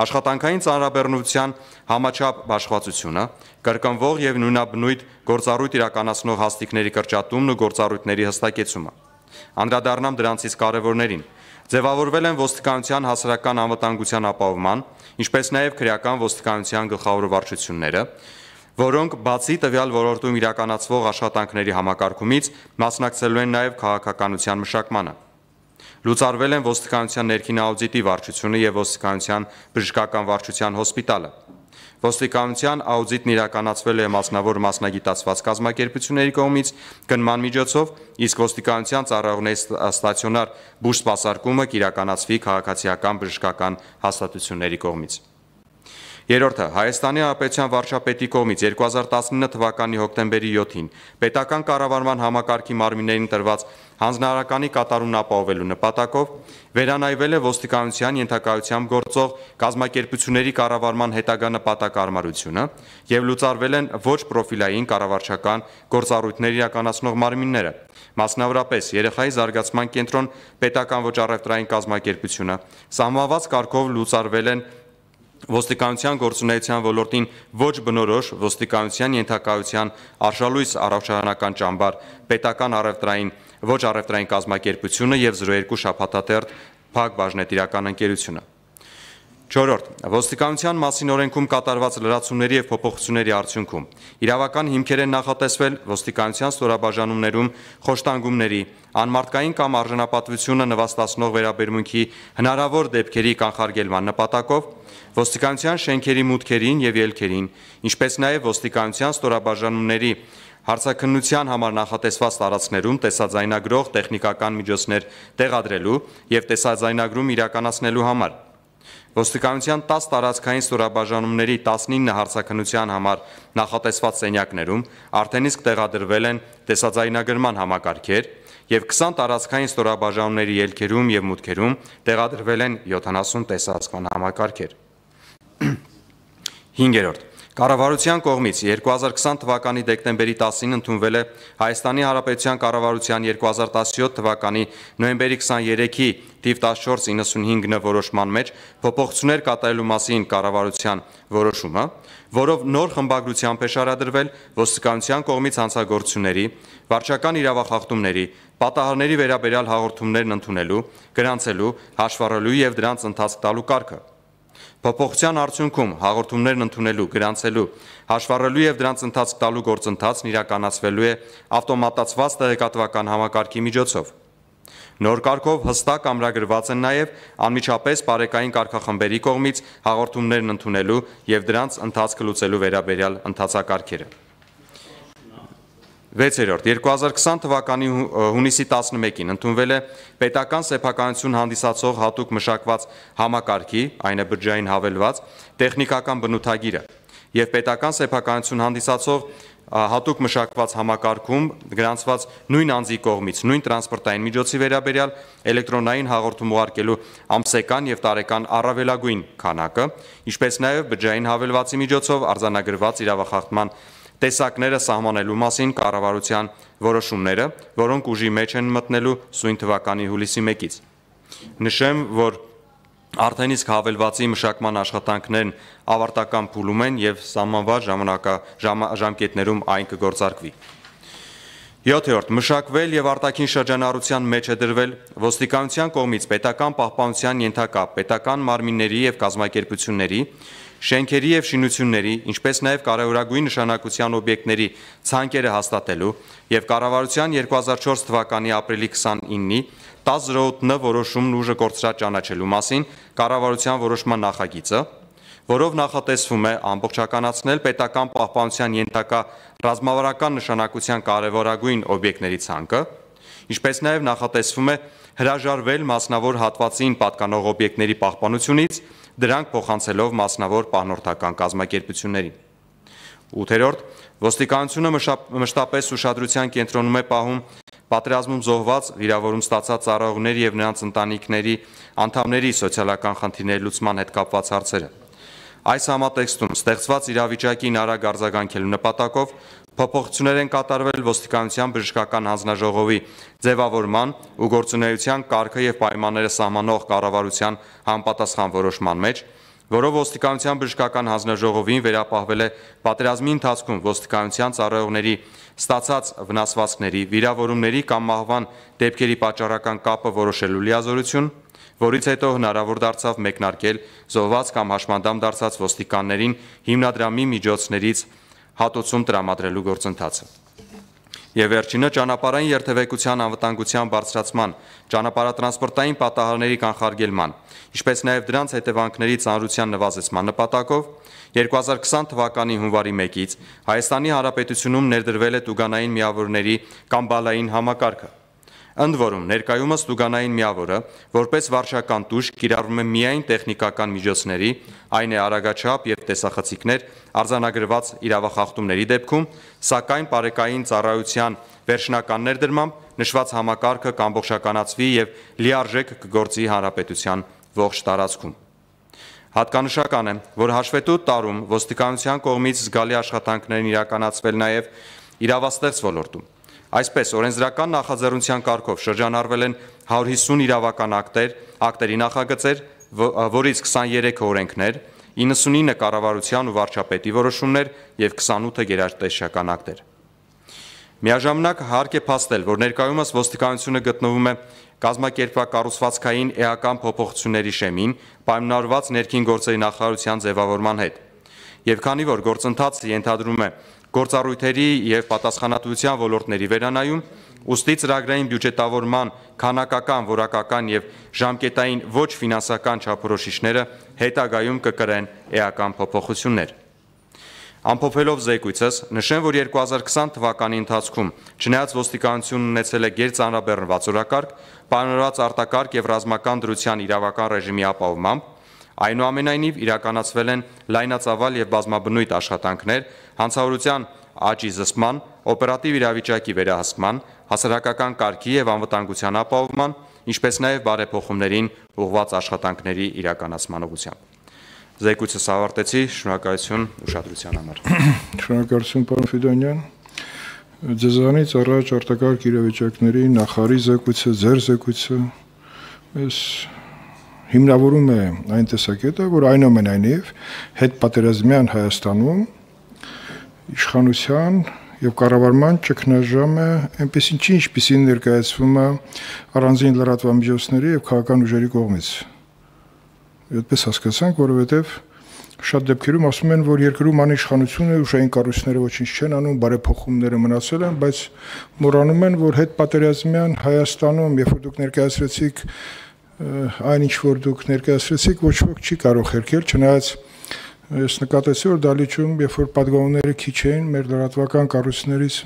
աշխատանքային ծանրաբեռնության համաչափ բաշխվածությունը, կրկնվող եւ նույնաբնույթ գործառույթ իրականացնող հաստիկների կրճատումն ու գործառույթների հստակեցումը։ Անդրադառնամ դրանցից կարևորներին։ Ձևավորվել են ոստիկանության հասարակական անվտանգության ապահովման, ինչպես նաև քրեական ոստիկանության գլխավոր վարչությունները, որոնք բացի տվյալ ոլորտում իրականացվող աշխատանքների համակարգումից մասնակցելու են նաև քաղաքականության մշակմանը։ Լուծարվել են ոստիկանության ներքին աուդիտի վարչությունը եւ ոստիկանության բժշկական վարչության հոսպիտալը։ Ոստիկանության աուդիտն իրականացվել է մասնավոր մասնագիտացված կազմակերպությունների կողմից գնման միջոցով, իսկ ոստիկանության ծառայողների ստացիոնար բուժ սպասարկումը կիրականացվի քաղաքացիական բժշկական հաստատությունների կողմից։ Երրորդը Հայաստանի Հանրապետության վարչապետի կողմից երկու հազար տասնինը թվականի հոկտեմբերի յոթին պետական կառավարման համակարգի մարմիններին տրված հանձնարարականի կատարումն ապահովելու նպատակով վերանայվել է ոստիկանության ենթակայությամբ գործող կազմակերպությունների կառավարման հետագա նպատակարարությունը եւ լուծարվել են ոչ պրոֆիլային կառավարչական գործառույթներ իրականացնող մարմինները, մասնավորապես երեխայի զարգացման կենտրոն պետական ոչ առևտրային կազմակերպությունը, սահմանված կարգով լուծարվել են ոստիկանության գործունեության ոլորտին ոչ բնորոշ ոստիկանության ենթակայության արշալույս առողջարանական ճամբար պետական առևտրային ոչ առևտրային կազմակերպությունը եւ զրո երկու շաբաթատերթ Փակ բաժնետիրական ընկերությունը։ Չորրորդ ոստիկանության մասին օրենքում կատարված լրացումների եւ փոփոխությունների արդյունքում իրավական հիմքեր են նախատեսվել ոստիկանության ստորաբաժանումներում խոշտանգումների, անմարդկային կամ արժանապատվությունը նվաստացնող վերաբերմունքի հնարավոր դեպքերի կանխարգելման նպատակով ոստիկանության շենքերի մուտքերին եւ ելքերին, ինչպես նաեւ ոստիկանության ստորաբաժանումների հարցաքննության համար նախատեսված տարածքներում տեսաձայնագրող տեխնիկական միջոցներ տեղադրելու եւ տեսաձայնագրում իրականացնելու համար ոստիկանության տասը տարածքային ստորաբաժանումների տասնինը հարցաքննության համար նախատեսված սենյակներում արդեն իսկ տեղադրվել են տեսաձայնագրման համակարգեր եւ քսան տարածքային ստորաբաժանումների ելքերում եւ մուտքերում տեղադրվել են յոթանասուն տեսահսկման համակարգեր։ Հինգերորդ Կառավարության կողմից երկու հազար քսան թվականի դեկտեմբերի տասին ընդունվել է Հայաստանի Հանրապետության կառավարության երկու հազար տասնյոթ թվականի նոյեմբերի քսաներեքի թիվ տասնչորս իննսունհինգ որոշման մեջ փոփոխություններ կատարելու մասին կառավարության որոշումը, որով նոր խմբագրությամբ է շարադրվել ոստիկանության կողմից հանցագործությունների, վարչական իրավախախտումների, պատահարների վերաբերյալ հաղորդումներն ընդունելու, գրանցելու, հաշվառելու եւ դրանց ընթացք տալու կարգը։ Փոփոխության արդյունքում հաղորդումներն ընդունելու, գրանցելու, հաշվառելու եւ դրանց ընթացք տալու գործընթացն իրականացվելու է ավտոմատացված տեղեկատվական համակարգի միջոցով։ Նոր կարգով հստակ ամրագրված են նաեւ անմիջապես բարեկային կարգախմբերի կողմից հաղորդումներն ընդունելու եւ դրանց ընթացքը լուծելու վերաբերյալ ընթացակարգերը։ Վեցերորդ երկու հազար քսան թվականի հունիսի տասնմեկին ընդունվել է պետական սեփականություն հանդիսացող հատուկ մշակված համակարգի, այն է բջջային հավելված, տեխնիկական բնութագիրը եւ պետական սեփականություն հանդիսացող հատուկ մշակված համակարգում գրանցված նույն անձի կողմից նույն տրանսպորտային միջոցի վերաբերյալ էլեկտրոնային հաղորդում ուղարկելու ամսական եւ տարեկան առավելագույն քանակը, ինչպես նաեւ բջջային հավելվածի միջոցով արձանագրված իրավախախտման տեսակները սահմանելու մասին կառավարության որոշումները, որոնք ուժի մեջ են մտնելու սույն թվականի հուլիսի մեկից։ Նշեմ, որ արդեն իսկ հավելվածի մշակման աշխատանքներն ավարտական փուլում են եւ սահմանված ժամանակաժամկետներում այն կգործարկվի։ Յոթերորդ մշակվել եւ արտաքին շրջանառության մեջ է դրվել ոստիկանության կողմից պետական պահպանության ենթակա պետական մարմինների եւ կազմակերպությունների շենքերի եւ շինությունների, ինչպես նաեւ կարևորագույն նշանակության օբյեկտների ցանկերը հաստատելու եւ կառավարության երկու հազար չորս թվականի ապրիլի քսանինի տասը զրո ութ որոշումն ուժը կորցրած ճանաչելու մասին կառավարության որոշման նախագիծը, որով նախատեսվում է ամբողջականացնել պետական պահպանության ենթակա ռազմավարական նշանակության կարևորագույն օբյեկտների ցանկը, ինչպես նաեւ նախատեսվում է հրաժարվել մասնավոր հատվածին պատկանող օբյեկտների պահպանությունից, դրանք փոխանցելով մասնավոր պահնորդական կազմակերպություններին։ Ութերորդ ոստիկանությունը մշտապես ուշադրության կենտրոնում է պահում պատերազմում զոհված, վիրավորում ստացած ծառայողների եւ նրանց ընտանիքների անդամների սոցիալական խնդիրների լուծման հետ կապված հարցերը։ Այս համատեքստում ստեղծված իրավիճակին արագ արձագանքելու նպատակով փոփոխություններ են կատարվել ոստիկանության բժշկական հանձնաժողովի ձևավորման ու գործունեության կարգը եւ պայմանները սահմանող կառավարության համապատասխան որոշման մեջ, որով ոստիկանության բժշկական հանձնաժողովին վերապահվել է պատերազմի ընթացքում ոստիկանության ծառայողների ստացած վնասվածքների, վիրավորումների կամ մահվան դեպքերի պատճառական կապը որոշելու լիազորություն, որից հետո հնարավոր դարձավ մեկնարկել զոհված կամ հաշմանդամ դարձած ոստիկաններին հիմնադրամի միջոցներից հատուցում տրամադրելու գործընթացը։ Եվ վերջինը ճանապարհային երթևեկության անվտանգության բարձրացման, ճանապարհատրանսպորտային պատահարների կանխարգելման, ինչպես նաև դրանց հետևանքների ծանրության նվազեցման նպատակով երկու հազար քսան թվականի հունվարի մեկից Հայաստանի Հանրապետությունում ներդրվել է տուգանային միավորների կամ բալային համակարգը։ Ընդ որում, ներկայումս տուգանային միավորը, որպես վարչական տուժ, կիրառվում է միայն տեխնիկական միջոցների, այն է արագաչափ եւ տեսախցիկներ արձանագրված իրավախախտումների դեպքում, սակայն բարեկային ծառայության վերջնական ներդրմամբ նշված համակարգը կամբողջականացվի եւ լիարժեք կգործի հանրապետության ողջ տարածքում։ Հատկանշական է, որ հաշվետու տարում ոստիկանության կողմից զգալի աշխատանքներ են իրականացվել նաեւ իրավաստեղծ ոլորտում։ Այսպես, օրենսդրական նախաձեռնության կարգով շրջանառվել են հարյուր հիսուն իրավական ակտեր, ակտերի նախագծեր, որից քսաներեքը օրենքներ, իննսունինը կառավարության ու վարչապետի որոշումներ եւ քսանութը գերատեսչական ակտեր։ Միաժամանակ հարկ է փաստել, որ ներկայումս ոստիկանությունը գտնվում է կազմակերպակառուցվածքային էական փոփոխությունների շեմին, պայմանավորված ներքին գործերի նախարարության ձևավորման հետ։ Եվ քանի որ գործընթացը ենթադրում է գործառույթերի եւ պատասխանատվության ոլորտների վերանայում, ուստի ծրագրային բյուջետավորման քանակական, որակական եւ ժամկետային ոչ ֆինանսական չափորոշիչները հետագայում կկրեն էական փոփոխություններ։ Ամփոփելով զեկույցս, նշեմ, որ երկու հազար քսան թվականի ընթացքում, չնայած ոստիկանությունն ունեցել է գերծանրաբեռնված օրակարգ, պայմանավորված արտակարգ եւ ռազմական դրության իրավական ռեժիմի ապահովմամբ, այնուամենայնիվ իրականացվել են լայնածավալ եւ բազմաբնույթ աշխատանքներ հանցավորության աճի զսպման, օպերատիվ իրավիճակի վերահսկման, հասարակական կարգի եւ անվտանգության ապահովման, ինչպես նաեւ բարեփոխումներին ուղղված աշխատանքների իրականացման ուղղությամբ։ Զեկույցս ավարտեցի, շնորհակալություն ուշադրության համար։ Շնորհակալություն, պարոն Ֆիդոնյան։ Ձեզանից առաջ արտակարգ իրավիճակների նախարարի զեկույցը, ձեր զեկույցը մեզ հիմնավորում է այն տեսակետը, որ այնուամենայնիվ հետպատերազմյան Հայաստանում իշխանության եւ կառավարման ճգնաժամը այնպեսին չի, ինչպեսին ներկայացվում է առանձին լրատվամիջոցների եւ քաղաքական ուժերի կողմից։ Այդպես հասկացանք, որովհետեւ շատ դեպքերում ասում են, որ երկրում անիշխանությունը ուժային կառույցները ոչինչ չեն անում, բարեփոխումները մնացել են, բայց մոռանում են, որ հետպատերազմյան Հայաստանում, երբ որ դուք ներկայացրեցիք այն ինչ որ դուք ներկայացրեցիք, ոչ ոք չի կարող հերքել, չնայած ես նկատեցի, որ դալիճում, երբ որ падգամները քիչ էին, մեր լրատվական կառույցներից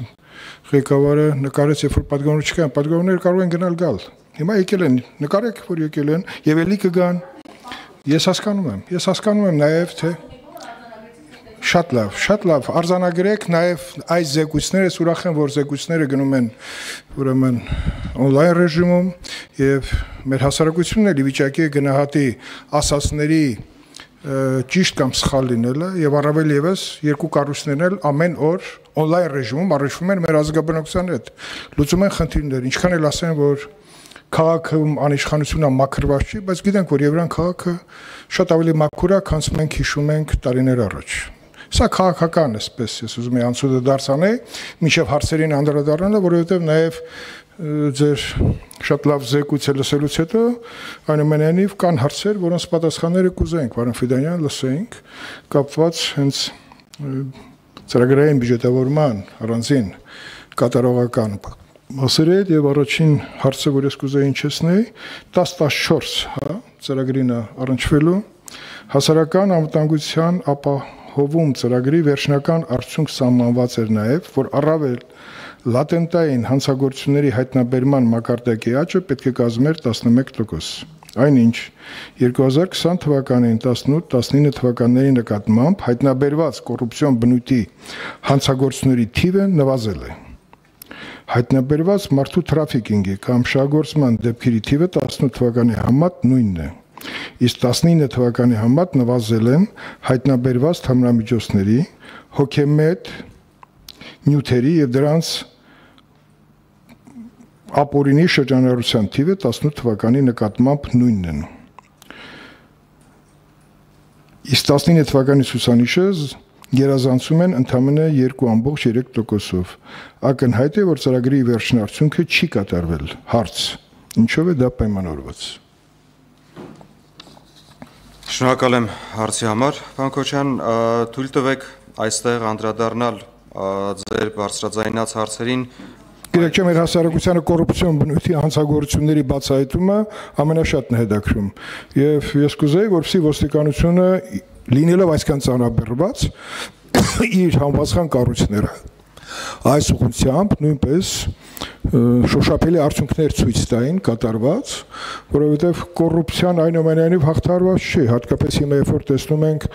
ղեկավարը նկարեց, երբ որ падգամներ չկան, падգամները կարող են գնալ գալ։ Հիմա եկել են, նկարեք, որ եկել են եւ ելի կգան։ Ես հասկանում եմ, ես հասկանում եմ նաեւ թե շատ լավ, շատ լավ, արձանագրեք նաեւ այս զեկույցները, ուրախ եմ, որ զեկույցները գնում են ուրեմն on-line ռեժիմում եւ մեր հասարակությունն էլ ի վիճակի է գնահատի ասածների ճիշտ կամ սխալ լինելը եւ առավել եւս երկու կառույցներն էլ ամեն օր on-line ռեժիմում առնչվում են մեր ազգաբնակության հետ։ Լուծում են խնդիրներ, ինչքան էլ ասեն, որ քաղաքում անիշխանությունը մաքրված չի, բայց գիտենք, որ Եվրան քաղաքը շատ ավելի մաքուր է, քան մենք հիշում ենք տարիներ առաջ։ Սա քաղաքական էսպես, ես ուզում եմ անցուդը դարձանել, մինչև հարցերին անդրադառնալը, որովհետև նաև ձեր շատ լավ զեկույցը լսելուց հետո այնուամենայնիվ կան հարցեր, որոնց պատասխանները կուզենք, պարոն Ֆիդոնյան, լսենք, կապված հենց ծրագրային բյուջետավորման առանձին կատարողական մասերի հետ եւ առաջին հարցը, որ ես կուզեի հնչեցնել, տասը տասնչորս, հա, ծրագրին առնչվելու հասարակական անվտանգության ապահովում ծրագրի վերջնական արդյունք սահմանված էր նաեւ, որ առավել լատենտային հանցագործությունների հայտնաբերման մակարդակի աճը պետք է կազմեր տասնմեկ տոկոս։ Այնինչ երկու հազար քսան թվականին տասնութ տասնինը թվականների նկատմամբ հայտնաբերված կոռուպցիոն բնույթի հանցագործությունների թիվը նվազել է։ Հայտնաբերված մարդու թրաֆիկինգի կամ շահագործման դեպքերի թիվը տասնութ թվականի համեմատ նույնն է։ Իսկ տասնինը թվականի համեմատ նվազել են հայտնաբերված թմրամիջոցների, հոգեմետ նյութերի եւ դրանց ապօրինի շրջանառության թիվը տասնութ թվականի նկատմամբ նույնն են։ Իսկ տասնինը թվականի ցուցանիշը գերազանցում են ընդամենը երկու կόμք երեք տոկոսով։ Ակնհայտ է, որ ծրագրի վերջնարդյունքը չի կատարվել։ Հարց. ինչով է դա պայմանավորված։ Շնորհակալ եմ հարցի համար, պարոն Քոչյան, թույլ տվեք այստեղ անդրադառնալ ձեր բարձրաձայնած հարցերին Գիտեք, մեր հասարակությանը կոռուպցիոն բնույթի հանցագործությունների բացահայտումը ամենաշատն է հետաքրում։ Եվ ես կուզեի, որպեսզի ոստիկանությունը լինելով այսքան ծանրաբեռնված իր համապատասխան կառույցները այս ուղղությամբ նույնպես շոշափելի արդյունքներ ցույց տային կատարված, որովհետև կոռուպցիան այնուամենայնիվ հաղթարված չի, հատկապես հիմա երբ որ տեսնում ենք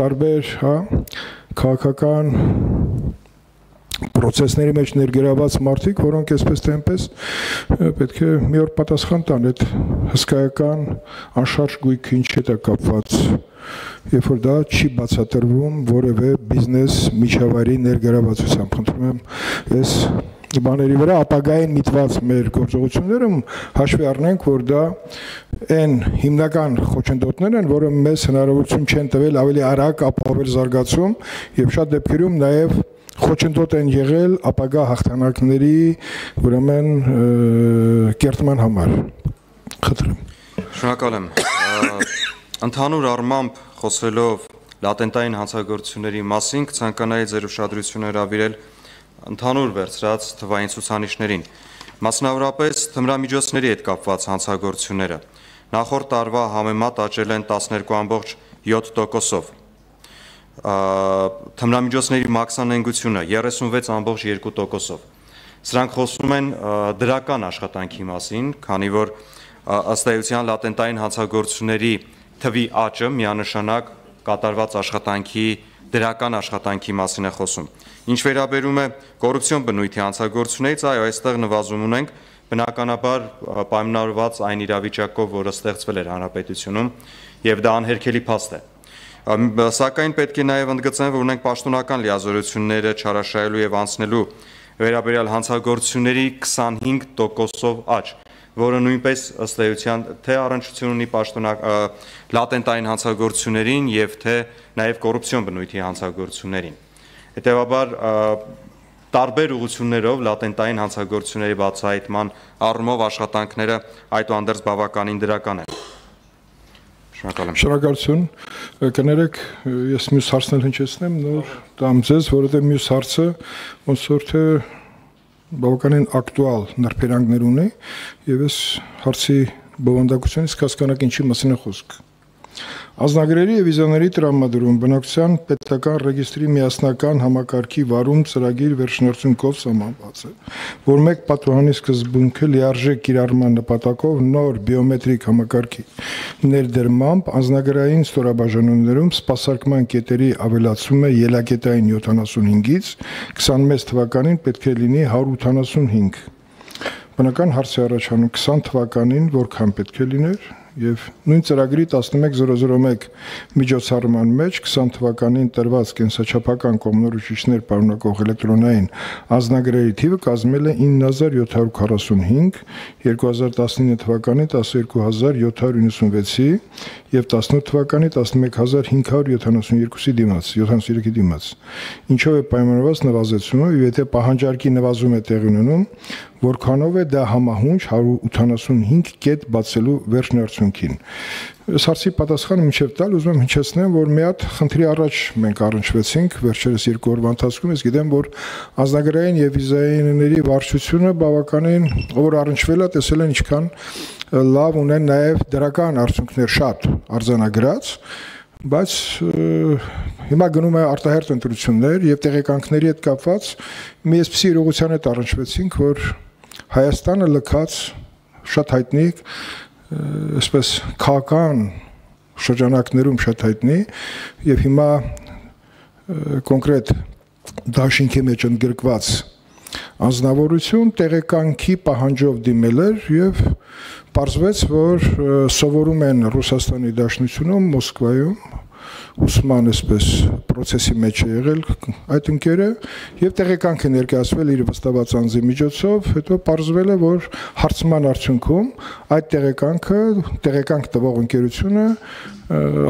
տարբեր, հա, քաղաքական procesների մեջ ներգրաված մարդիկ, որոնք այսպես թե այնպես պետք է մի օր պատասխան տան այդ հսկայական անշարժ գույքի ինչ հետ է կապված, երբ որ դա չի բացատրվում որևէ բիզնես միջավայրի ներգրավվածությամբ։ Խնդրում եմ ես բաների վրա ապագային միտված մեր գործողությունները հաշվի առնենք, որ դա այն հիմնական խոչընդոտներն են, որը մեզ հնարավորություն չեն տվել ավելի արագ ապահովել զարգացում եւ շատ դեպքերում նաեւ խոչընդոտ են եղել ապագա հաղթանակների ուրեմն կերտման համար։ Խնդրեմ։ Շնորհակալ եմ։ Ընդհանուր առմամբ խոսելով լատենտային հանցագործությունների մասին, կցանկանայի ձեր ուշադրությունը հրավիրել ընդհանուր վերցրած թվային ցուցանիշներին, մասնավորապես թմրամիջոցների հետ կապված հանցագործությունները նախորդ տարվա համեմատ աճել են տասներկու ամբողջ յոթ տոկոսով, թմրամիջոցների մաքսանենգությունը երեսունվեց ամբողջ երկու տոկոսով։ Սրանք խոսում են դրական աշխատանքի մասին, քանի որ ըստ էության լատենտային հանցագործությունների թվի աճը միանշանակ կատարված աշխատանքի դրական աշխատանքի մասին է խոսում։ Ինչ վերաբերում է կոռուպցիոն բնույթի հանցագործություններից, այո, այստեղ նվազում ունենք, բնականաբար պայմանավորված այն իրավիճակով, որը ստեղծվել էր հանրապետությունում, եւ դա անհերքելի փաստ է։ Սակայն պետք է նաև ընդգծեմ, որ ունենք պաշտոնական լիազորությունները չարաշահելու եւ անցնելու վերաբերյալ հանցագործությունների քսանհինգ տոկոսով աճ, որը նույնպես ըստ էության թե առնչություն ունի պաշտոնակ լատենտային հանցագործություններին եւ թե նաեւ կոռուպցիոն բնույթի հանցագործություններին։ Հետևաբար տարբեր ուղղություններով լատենտային հանցագործությունների բացահայտման առումով աշխատանքները այդուհանդերձ բավականին դրական են։ Շնորհակալություն։ Կներեք, ես մյուս հարցն հնչեցնեմ, նոր տամ ձեզ, որովհետև մյուս հարցը ոնց որ թե բավականին ակտուալ նրբերանգներ ունի եւ ես հարցի բովանդակությունից կհասկանաք ինչի մասին է խոսքը։ Ազնագրերի եւ վիզաների տրամադրում բնակչության պետական ռեգիստրի միասնական համակարգի վարում ծրագիր վերջնարդյունքով սահմանված է, որ մեկ պատուհանի սկզբունքը լիարժեք կիրառման նպատակով նոր բիոմետրիկ համակարգի ներդրմամբ ազնագրային ստորաբաժանումներում սպասարկման կետերի ավելացումը ելակետային յոթանասունհինգից քսանմեծ թվականին պետք է լինի հարյուր ութանասունհինգ։ Բնական հարց է առաջանում քսան թվականին որքան պետք է լիներ եւ նույն ծրագրի տասնմեկ հազար մեկ միջոցառման մեջ քսան թվականին տրված կենսաչափական կողմնորոշիչներ պարունակող էլեկտրոնային ազնագրերի թիվը կազմել է ինը հազար յոթ հարյուր քառասունհինգ, երկու հազար տասնինը թվականին տասնյոթ հազար յոթ հարյուր իննսունվեցի եւ տասնութ թվականի տասնմեկ հազար հինգ հարյուր յոթանասունյոթի դիմաց, յոթանասունյոթի դիմաց։ Ինչով է պայմանավորված նվազեցումը, եւ եթե պահանջարկի նվազում է տեղի ունենում, որքանով է դա համահունչ հարյուր ութանասունհինգ կետ բացելու վերջնարդյունքին։ Այս հարցի պատասխանը մինչև տալ ուզում եմ հնչեցնեմ, որ մի հատ խնդրի առաջ մենք առնչվեցինք վերջերս երկու օրվա ընթացքում, ես գիտեմ, որ ազնագրային եւ վիզաների վարչությունը բավականին որ առնչվել է, տեսել են ինչքան լավ ունեն նաեւ դրական արդյունքներ շատ արձանագրած, բայց հիմա գնում է արտահերթ ընտրություններ եւ տեղեկանքների հետ կապված մի այսպիսի իրողության հետ առնչվեցինք, որ Հայաստանը լքած շատ հայտնի այսպես քաղաքական շրջանակներում շատ հայտնի եւ հիմա կոնկրետ դաշինքի մեջ ընդգրկված անձնավորություն տեղեկանքի պահանջով դիմել էր եւ պարզվեց, որ սովորում են Ռուսաստանի Դաշնությունում, Մոսկվայում ուսման այսպես process-ի մեջ է եղել այդ ընկերը եւ տեղեկանք է ներկայացվել իր վստահված անձի միջոցով, հետո պարզվել է, որ հարցման արդյունքում այդ տեղեկանքը, տեղեկանք տվող ընկերությունը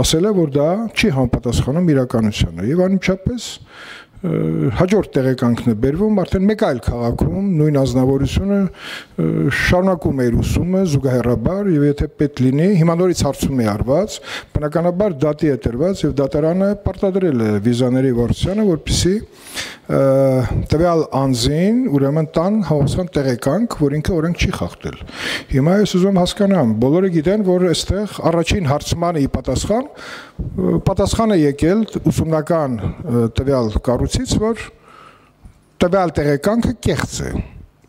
ասել է, որ դա չի համապատասխանում իրականությանը եւ անմիջապես հաջորդ տեղեկանքն է բերվում, արդեն մեկ այլ քաղաքում նույն ազնվորությունը շարունակում է իր ուսումը զուգահեռաբար եւ եթե պետք լինի, հիմա նորից հարցում է արված, բնականաբար դատի է տրված եւ դատարանը պարտադրել է վիզաների վարչությանը, որպեսզի տվյալ անձին ուրեմն տան հավասար տեղեկանք, որ ինքը օրենք չի խախտել։ Հիմա ես ուզում հասկանամ, բոլորը գիտեն, որ այստեղ առաջին հարցմանը ի պատասխան պատասխան է եկել ուսումնական տվյալ կառույցից, որ տվյալ տեղեկանքը կեղծ է։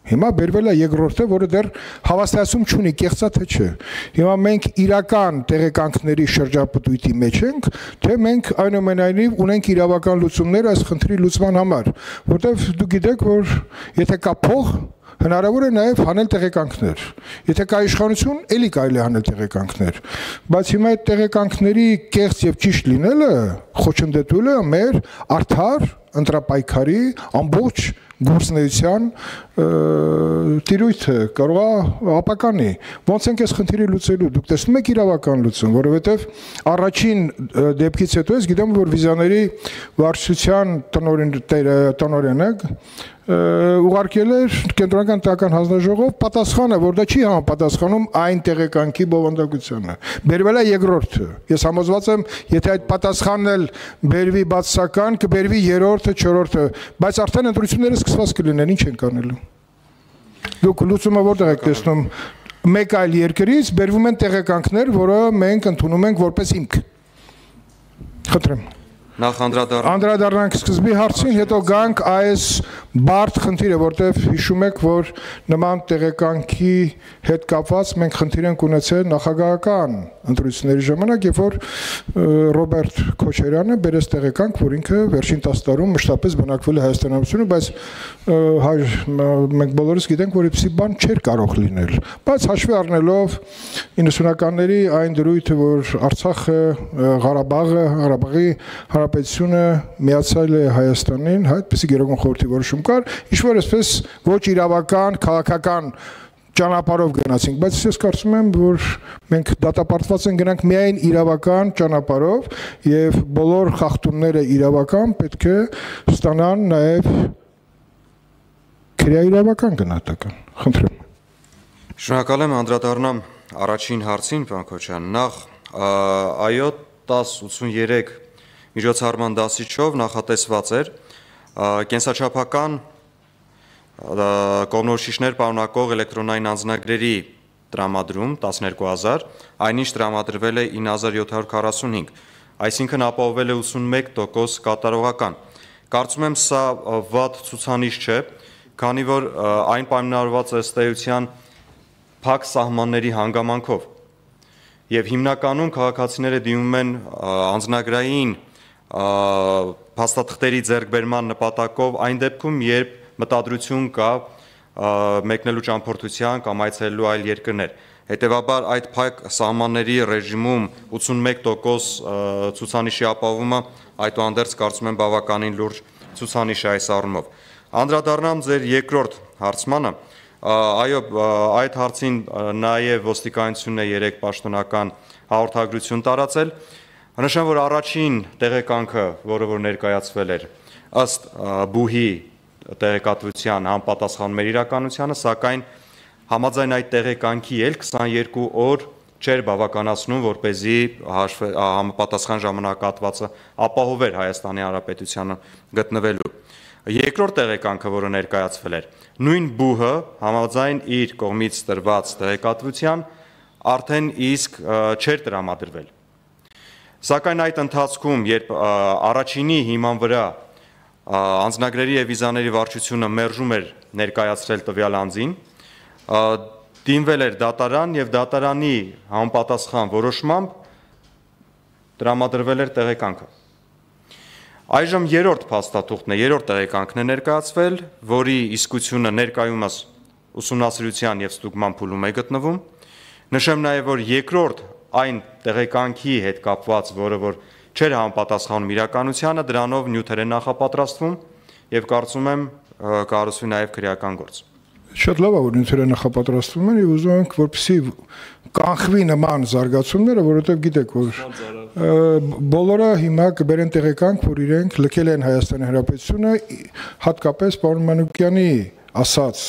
Հիմա բերվել է երկրորդը, որը դեռ հավաստիացում չունի կեղծա թե չէ։ Հիմա մենք իրական տեղեկանքների շրջապտույտի մեջ ենք, թե մենք այնուամենայնիվ ունենք իրավական լուծումներ այս խնդրի լուծման համար, որտեղ դուք գիտեք, որ եթե կա փող, հնարավոր է նաև հանել տեղեկանքներ։ Եթե կա իշխանություն, էլի կարելի է հանել տեղեկանքներ։ Բայց հիմա այդ տեղեկանքների կեղծ եւ ճիշտ լինելը խոչընդոտում է մեր արդար ընտրապայքարի ամբողջ գործունեության տիրույթը կարող է ապականի։ Ոնց ենք այս խնդիրը լուծելու։ Դուք տեսնում եք իրավական լուծում, որովհետև առաջին դեպքից հետո ես գիտեմ, որ վիզաների վարչության տնօրենը ուղարկել էր կենտրոնական տեղական հանձնաժողով պատասխանը, որ դա չի համապատասխանում այն տեղեկանքի բովանդակությանը։ Բերվել է երկրորդը։ Ես համոզված եմ, եթե այդ պատասխանն էլ բերվի բացասական, կբերվի երրորդը, չորրորդը, բայց արդեն ընտրությունները սկսված կլինեն, ինչ ենք անելու։ Դուք լուծումը որտեղ եք տեսնում։ Մեկ այլ երկրից բերվում են տեղեկանքներ, որը մենք ընդունում ենք որպես հիմք։ Խնդրեմ։ Նախ անդրադառնանք անդրադառնանք սկզբի հարցին, հետո գանք այս բարդ խնդիրը, որտեղ հիշում եք, որ նման տեղեկանքի հետ կապված մենք խնդիր ենք ունեցել նախագահական ընտրությունների ժամանակ, երբ որ Ռոբերտ Քոչարյանը բերեց տեղեկանք, որ ինքը վերջին տասը տարում մշտապես բնակվել է Հայաստան Հանրապետությունում, բայց մենք բոլորս գիտենք, որ այդպիսի բան չէր կարող լինել։ Բայց հաշվի առնելով իննսունականների այն դրույթը, որ Արցախը, Ղարաբաղը, Ղարաբաղի Հանրապետությունը միացել է Հայաստանին, այդպիսի գերագույն խորհրդի որոշում կար, ինչ որ այսպես ոչ իրավական, քաղաքական ճանապարհով գնացինք, բայց ես կարծում եմ, որ մենք դատապարտված ենք գնանք միայն իրավական ճանապարհով եւ բոլոր խախտումները իրավական պետք է ստանան նաեւ քրեաիրավական գնահատական։ Խնդրեմ։ Շնորհակալ եմ, անդրադառնամ առաջին հարցին, պարոն Քոչարյան։ Նախ այո տասը ութսուներեք միջոցառման դասիչով նախատեսված էր կենսաչափական կողմնորոշիչներ պարունակող էլեկտրոնային անձնագրերի տրամադրում տասներկու հազար, այնինչ տրամադրվել է ինը հազար յոթ հարյուր քառասունհինգ, այսինքն ապահովել է ութսունմեկ տոկոս կատարողական։ Կարծում եմ սա վատ ցուցանիշ չէ, քանի որ այն պայմանավորված է ըստ էության փակ սահմանների հանգամանքով։ Եվ հիմնականում քաղաքացիները դիմում են անձնագրային փաստաթղթերի ձեռքբերման նպատակով այն դեպքում, երբ մտադրություն կա մեկնելու ճամփորդության կամ այցելելու այլ երկրներ։ Հետևաբար այդ փակ սահմանների ռեժիմում ութսունմեկ տոկոս ցուցանիշի ապահովումը այդուհանդերձ կարծում եմ բավականին լուրջ ցուցանիշ է այս առումով։ Անդրադառնամ ձեր երկրորդ հարցմանը, այո, այդ հարցին նաև ոստիկանությունն է երեք պաշտոնական հաղորդագրություն տարածել։ Նշեմ, որ առաջին տեղեկանքը, որը որ ներկայացվել էր ըստ բուհի տեղեկատվության համապատասխանում էր իրականությանը, սակայն համաձայն այդ տեղեկանքի էլ քսաներկու օր չէր բավականացնում, որպեսզի համապատասխան ժամանակահատվածը ապահովեր Հայաստանի Հանրապետությանը գտնվելու։ Երկրորդ տեղեկանքը, որը ներկայացվել էր, նույն բուհը համաձայն իր կողմից տրված տեղեկատվության արդեն իսկ չէր տրամադրվել։ Սակայն այդ ընթացքում, երբ առաջինի հիման վրա անձնագրերի եւ վիզաների վարչությունը մերժում էր ներկայացրել տվյալ անձին, դիմվել էր դատարան եւ դատարանի համապատասխան որոշմամբ տրամադրվել էր տեղեկանքը։ Այժմ երրորդ փաստաթուղթն է, երրորդ տեղեկանքն է ներկայացվել, որի իսկությունը ներկայումս ուսումնասիրության եւ ստուգման փուլում է գտնվում։ Նշեմ նաեւ, որ երկրորդ այն տեղեկանքի հետ կապված, որը որ չէր համապատասխանում իրականությանը, դրանով նյութեր են նախապատրաստվում եւ կարծում եմ կառուցվի նաեւ քրեական գործ։ Շատ լավ է, որ նյութերը նախապատրաստվում են եւ ուզում ենք, որպեսզի կանխվի նման զարգացումները, որովհետեւ գիտեք, որ Բոլորը հիմա կբերեն տեղեկանք, որ իրենք լքել են Հայաստանի Հանրապետությունը, հատկապես պարոն Մանուկյանի ասած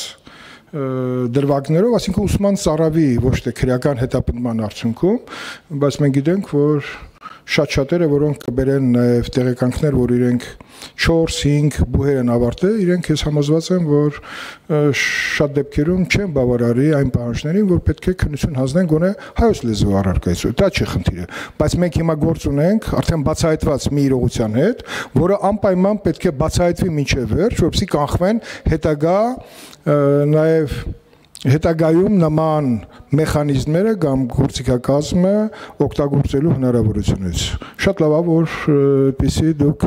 դրվագներով, այսինքն ուսման ծարավի ոչ թե քրեական հետապնդման արդյունքում, բայց մենք գիտենք, որ շատ-շատերը, որոնք կբերեն նաև տեղեկանքներ, որ իրենք չորս հինգ բուհեր են ավարտել, իրենք ես համոզված եմ, որ շատ դեպքերում չեն բավարարի այն պահանջներին, որ պետք է քննություն հանձնեն գոնե հայոց լեզվի առարկայություն։ Դա չի խնդիրը, բայց մենք հիմա գործ ունենք արդեն բացահայտված մի իրողության հետ, որը անպայման պետք է բացահայտվի մինչև վերջ, որպեսզի կանխվեն հետագա նաև հետագայում նման մեխանիզմները կամ գործիքակազմը օգտագործելու հնարավորությունից։ Շատ լավ է, որ այդպիսի դուք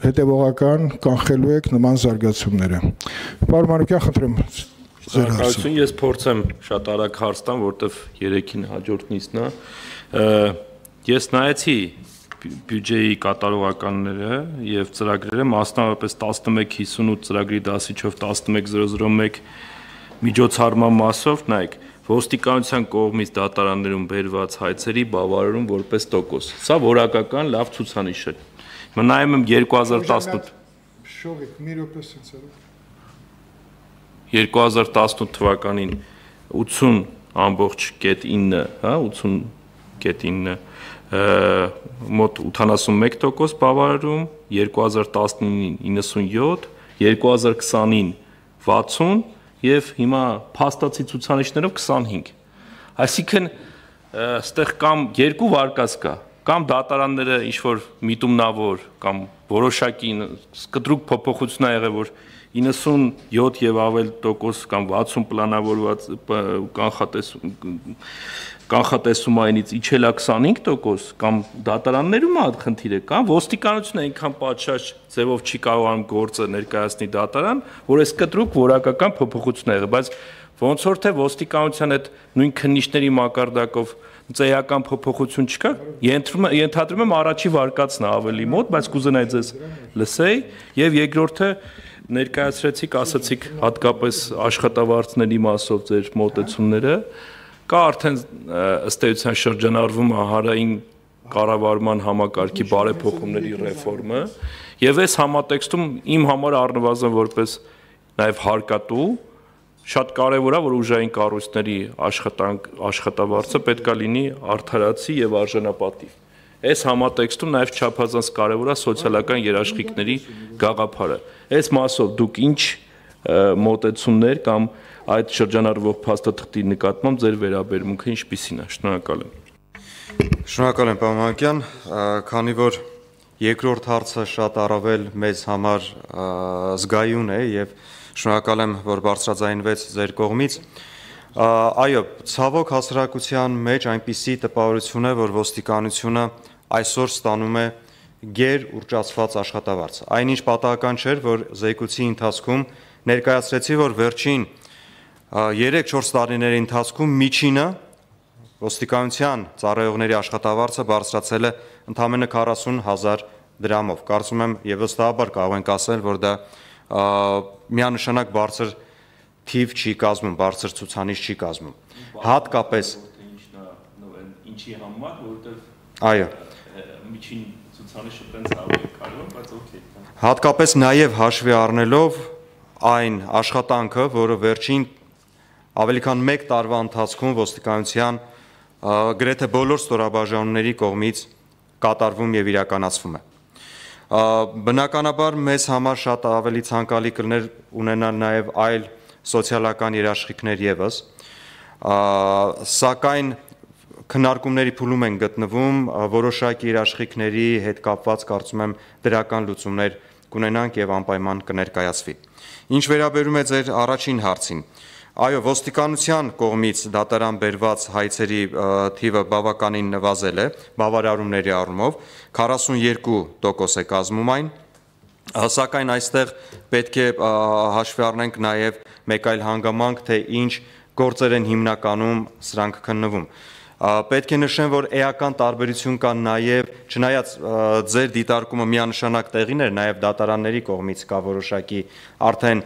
հետևողական կանխելու եք նման զարգացումները։ Պարոն Մանուկյան, խնդրեմ ձեր հարցը։ Ես փորձեմ շատ արագ հարց տամ, որտեվ երեքին հաջորդ նիստն է։ Ես նայեցի բյուջեի կատարողականները եւ ծրագրերը, մասնավորապես տասնմեկ հիսունութ ծրագրի դասիչով տասնմեկ հազար մեկ միջոցառման մասով, նայեք, ոստիկանության կողմից դատարաններում բերված հայցերի բավարարում որպես տոկոս։ Սա որակական լավ ցուցանիշ է։ Հիմա նայում եմ երկու հազար տասնութ երկու հազար տասնութ թվականին ութուն ամբողջ կետ ինը, հա, ութուն կետ ինը մոտ ութանասունմեկ տոկոս բավարարում, երկու հազար տասնինին իննսունյոթ, երկու հազար քսանին վաթսուն եւ հիմա փաստացի ցուցանիշներով քսանհինգ։ Այսինքն այստեղ կամ երկու վարկած կա, կամ դատարանները ինչ որ միտումնավոր կամ որոշակի կտրուկ փոփոխություն ա եղել, որ իննսունյոթ եւ ավել տոկոս կամ վաթսուն պլանավորված կանխատեսում կանխատեսումայինից իջել է քսանհինգ տոկոս կամ դատարաններում է խնդիրը, կամ ոստիկանությունը այնքան պատշաճ ձևով չի կարողանում գործը ներկայացնի դատարան, որ այս կտրուկ որակական փոփոխություն ա եղել, բայց ոնց որ թե ոստիկանության այդ նույն քննիչների մակարդակով ծեյական փոփոխություն չկա, ենթադրում եմ առաջի վարկածն է ավելի մոտ, բայց կուզենայի ձեզ լսեի, եւ երկրորդը ներկայացրեցիք, ասացիք հատկապես աշխատավարձների մասով ձեր մոտեցումները, կա արդեն ըստ էության շրջանառվում է հանրային կառավարման համակարգի բարեփոխումների ռեֆորմը, եւ այս համատեքստում իմ համար առնվազն որպես նաեւ հարկատու շատ կարեւոր է, որ ուժային կառույցների աշխատանք աշխատավարձը պետքա լինի արդարացի եւ արժանապատիվ։ Այս համատեքստում նաեւ չափազանց կարեւոր է սոցիալական երաշխիքների գաղափարը։ Այս մասով դուք ինչ մոտեցումներ կամ այդ շրջանառվող փաստաթղթի նկատմամբ ձեր վերաբերմունքը ինչպիսին է։ Շնորհակալ եմ։ Շնորհակալ եմ, պարոն Մանուկյան, քանի որ երկրորդ հարցը շատ առավել մեզ համար զգայուն է եւ շնորհակալ եմ, որ բարձրաձայնվեց ձեր կողմից։ Այո, ցավոք հասարակության մեջ այնպիսի տպավորություն է, որ ոստիկանությունը այսօր ստանում է գեր ուռճացված աշխատավարձ։ Այնինչ պատահական չէր, որ զեկույցի ընթացքում ներկայացրեցի, որ վերջին երեք-չորս տարիների ընթացքում միջինը ոստիկանության ծառայողների աշխատավարձը բարձրացել է ընդամենը քառասուն հազար դրամով։ Կարծում եմ եւ վստահաբար կարող ենք ասել, որ դա միանշանակ բարձր թիվ չի կազմում, բարձր ցուցանիշ չի կազմում։ Հատկապես ինչի համար, որովհետեւ այո, միջին ցուցանիշը տենց ավելի կարևոր, բայց օքեյ։ Հատկապես նաեւ հաշվի առնելով այն աշխատանքը, որը վերջին ավելի քան մեկ տարվա ընթացքում ոստիկանության գրեթե բոլոր ստորաբաժանումների կողմից կատարվում եւ իրականացվում է։ Բնականաբար մեզ համար շատ ավելի ցանկալի կլներ ունենալ նաեւ այլ սոցիալական երաշխիքներ եւս, սակայն քննարկումների փուլում են գտնվում որոշակի երաշխիքների հետ կապված, կարծում եմ, դրական լուծումներ կունենանք եւ անպայման կներկայացվի։ Ինչ վերաբերում է ձեր առաջին հարցին, այո, ոստիկանության կողմից դատարան բերված հայցերի թիվը բավականին նվազել է, բավարարումների առումով, քառասունյոթ տոկոս է կազմում այն, սակայն այստեղ պետք է հաշվի առնենք նաև մեկ այլ հանգամանք, թե ինչ գործեր են հիմնականում սրանք քննվում։ Պետք է նշեմ, որ էական տարբերություն կան նաև, չնայած ձեր դիտարկումը միանշանակ տեղին էր, նաև դատարանների կողմից կա որոշակի արդեն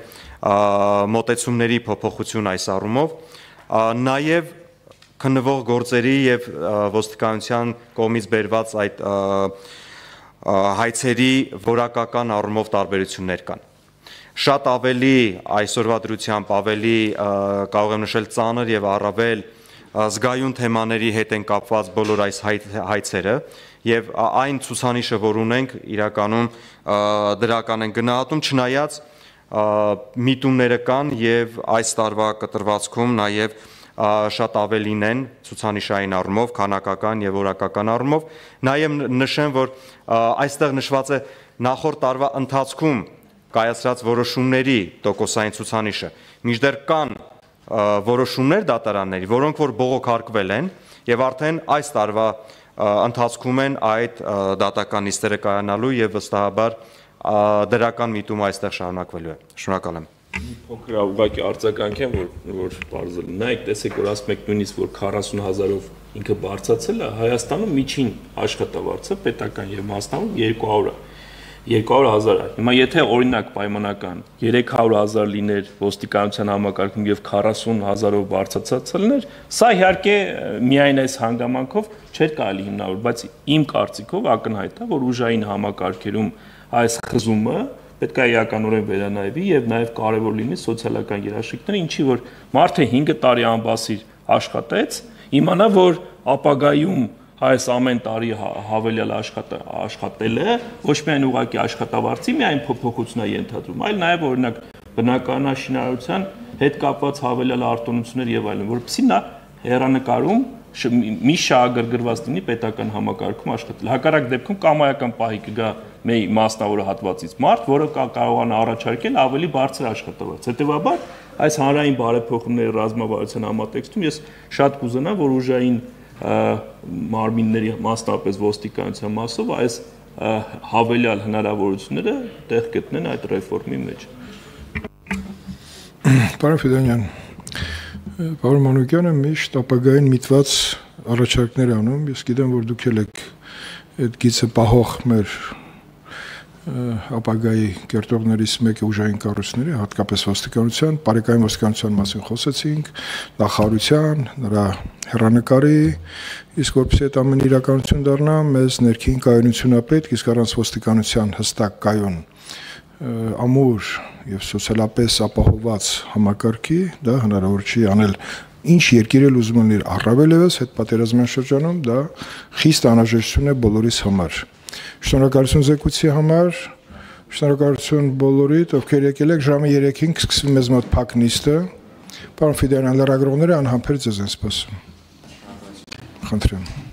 մոտեցումների փոփոխություն այս առումով, նաև քննվող գործերի եւ ոստիկանության կողմից բերված այդ հայցերի որակական առումով տարբերություններ կան։ Շատ ավելի այսօրվա դրությամբ ավելի կարող եմ նշել ծանր եւ առավել զգայուն թեմաների հետ են կապված բոլոր այս հայցերը եւ այն ցուցանիշը, որ ունենք, իրականում դրական են գնահատում, չնայած միտումները կան եւ այս տարվա կտրվածքում նաեւ շատ ավելին են ցուցանիշային առումով, քանակական եւ որակական առումով, նաեւ նշեմ, որ այստեղ նշված է նախորդ տարվա ընթացքում կայացրած որոշումների տոկոսային ցուցանիշը, մինչդեռ կան որոշումներ դատարանների, որոնք որ բողոքարկվել են եւ արդեն այս տարվա ընթացքում են այդ դատական նիստերը կայանալու եւ վստահաբար դրական միտումը այստեղ շարունակվելու է։ Շնորհակալ եմ։ Փոքր ուղղակի արձագանք եմ, որ որ բարձր։ Նայեք, տեսեք, որ ասում եք նույնիսկ որ քառասուն հազարով ինքը բարձրացել է, Հայաստանում միջին աշխատավարձը պետական եւ մասնավոր երկու հարյուր երկու հարյուր հազար է։ Հիմա եթե օրինակ պայմանական երեք հարյուր հազար լիներ ոստիկանության համակարգում եւ քառասուն հազարով բարձրացած լիներ, սա իհարկե միայն այս հանգամանքով չէր կարելի հիմնավորել, բայց իմ կարծիքով ակնհայտ է, որ ուժային համակարգերում այս խզումը պետք է իրականորեն վերանայվի եւ նաեւ կարեւոր լինի սոցիալական երաշխիքները, ինչի որ մարդը հինգ տարի անբասիր աշխատեց, իմանա, որ ապագայում այս ամեն տարի հավելյալ աշխատել է, ոչ միայն ուղղակի աշխատավարձի միայն փոփոխություն է ենթադրում, այլ նաև օրինակ բնականաշինարարության հետ կապված հավելյալ արտոնություններ եւ այլն, որովհետեւ նա հերանեկարում մի շահագրգռված լինի պետական համակարգում աշխատել։ Հակառակ դեպքում կամայական պահի կգա մեր մասնավոր հատվածից մարդ, որը կարողանա առաջարկել ավելի բարձր աշխատավարձ։ Հետևաբար այս հանրային բարեփոխումների ռազմավարության համատեքստում ես շատ կուզենամ, որ ուժային մարմինների մասնապես ոստիկանության մասով այս հավելյալ հնարավորությունները տեղ գտնեն այդ ռեֆորմի մեջ։ Պարոն Ֆիդանյան, պարոն Մանուկյանը միշտ ապագային միտված առաջարկներ անում, ես գիտեմ, որ դուք եք այդ գիծը պահող մեր ապագայի կերտողներից մեկը ուժային կառույցների, հատկապես ոստիկանության, բարեկային ոստիկանության մասին խոսեցինք, նախարարության, նրա հեռանկարի, իսկ որպեսզի այդ ամեն իրականություն դառնա, մեզ ներքին կայունություն ապրեք, իսկ առանց ոստիկանության հստակ կայուն ամուր եւ սոցիալապես ապահովված համակարգի, դա հնարավոր չի անել ինչ երկիր էլ ուզում լինի առավել եւս հետ պատերազմյան շրջանում, դա խիստ անհրաժեշտություն է բոլորիս համար։ Շնորհակալություն զեկույցի համար, շնորհակալություն բոլորիդ, ովքեր եկել եք, ժամը երեքին կսկսվի մեզ մոտ փակ նիստը։ Պարոն Ֆիդանյան, լրագրողները անհամբեր ձեզ են սպասում։ Խնդրեմ։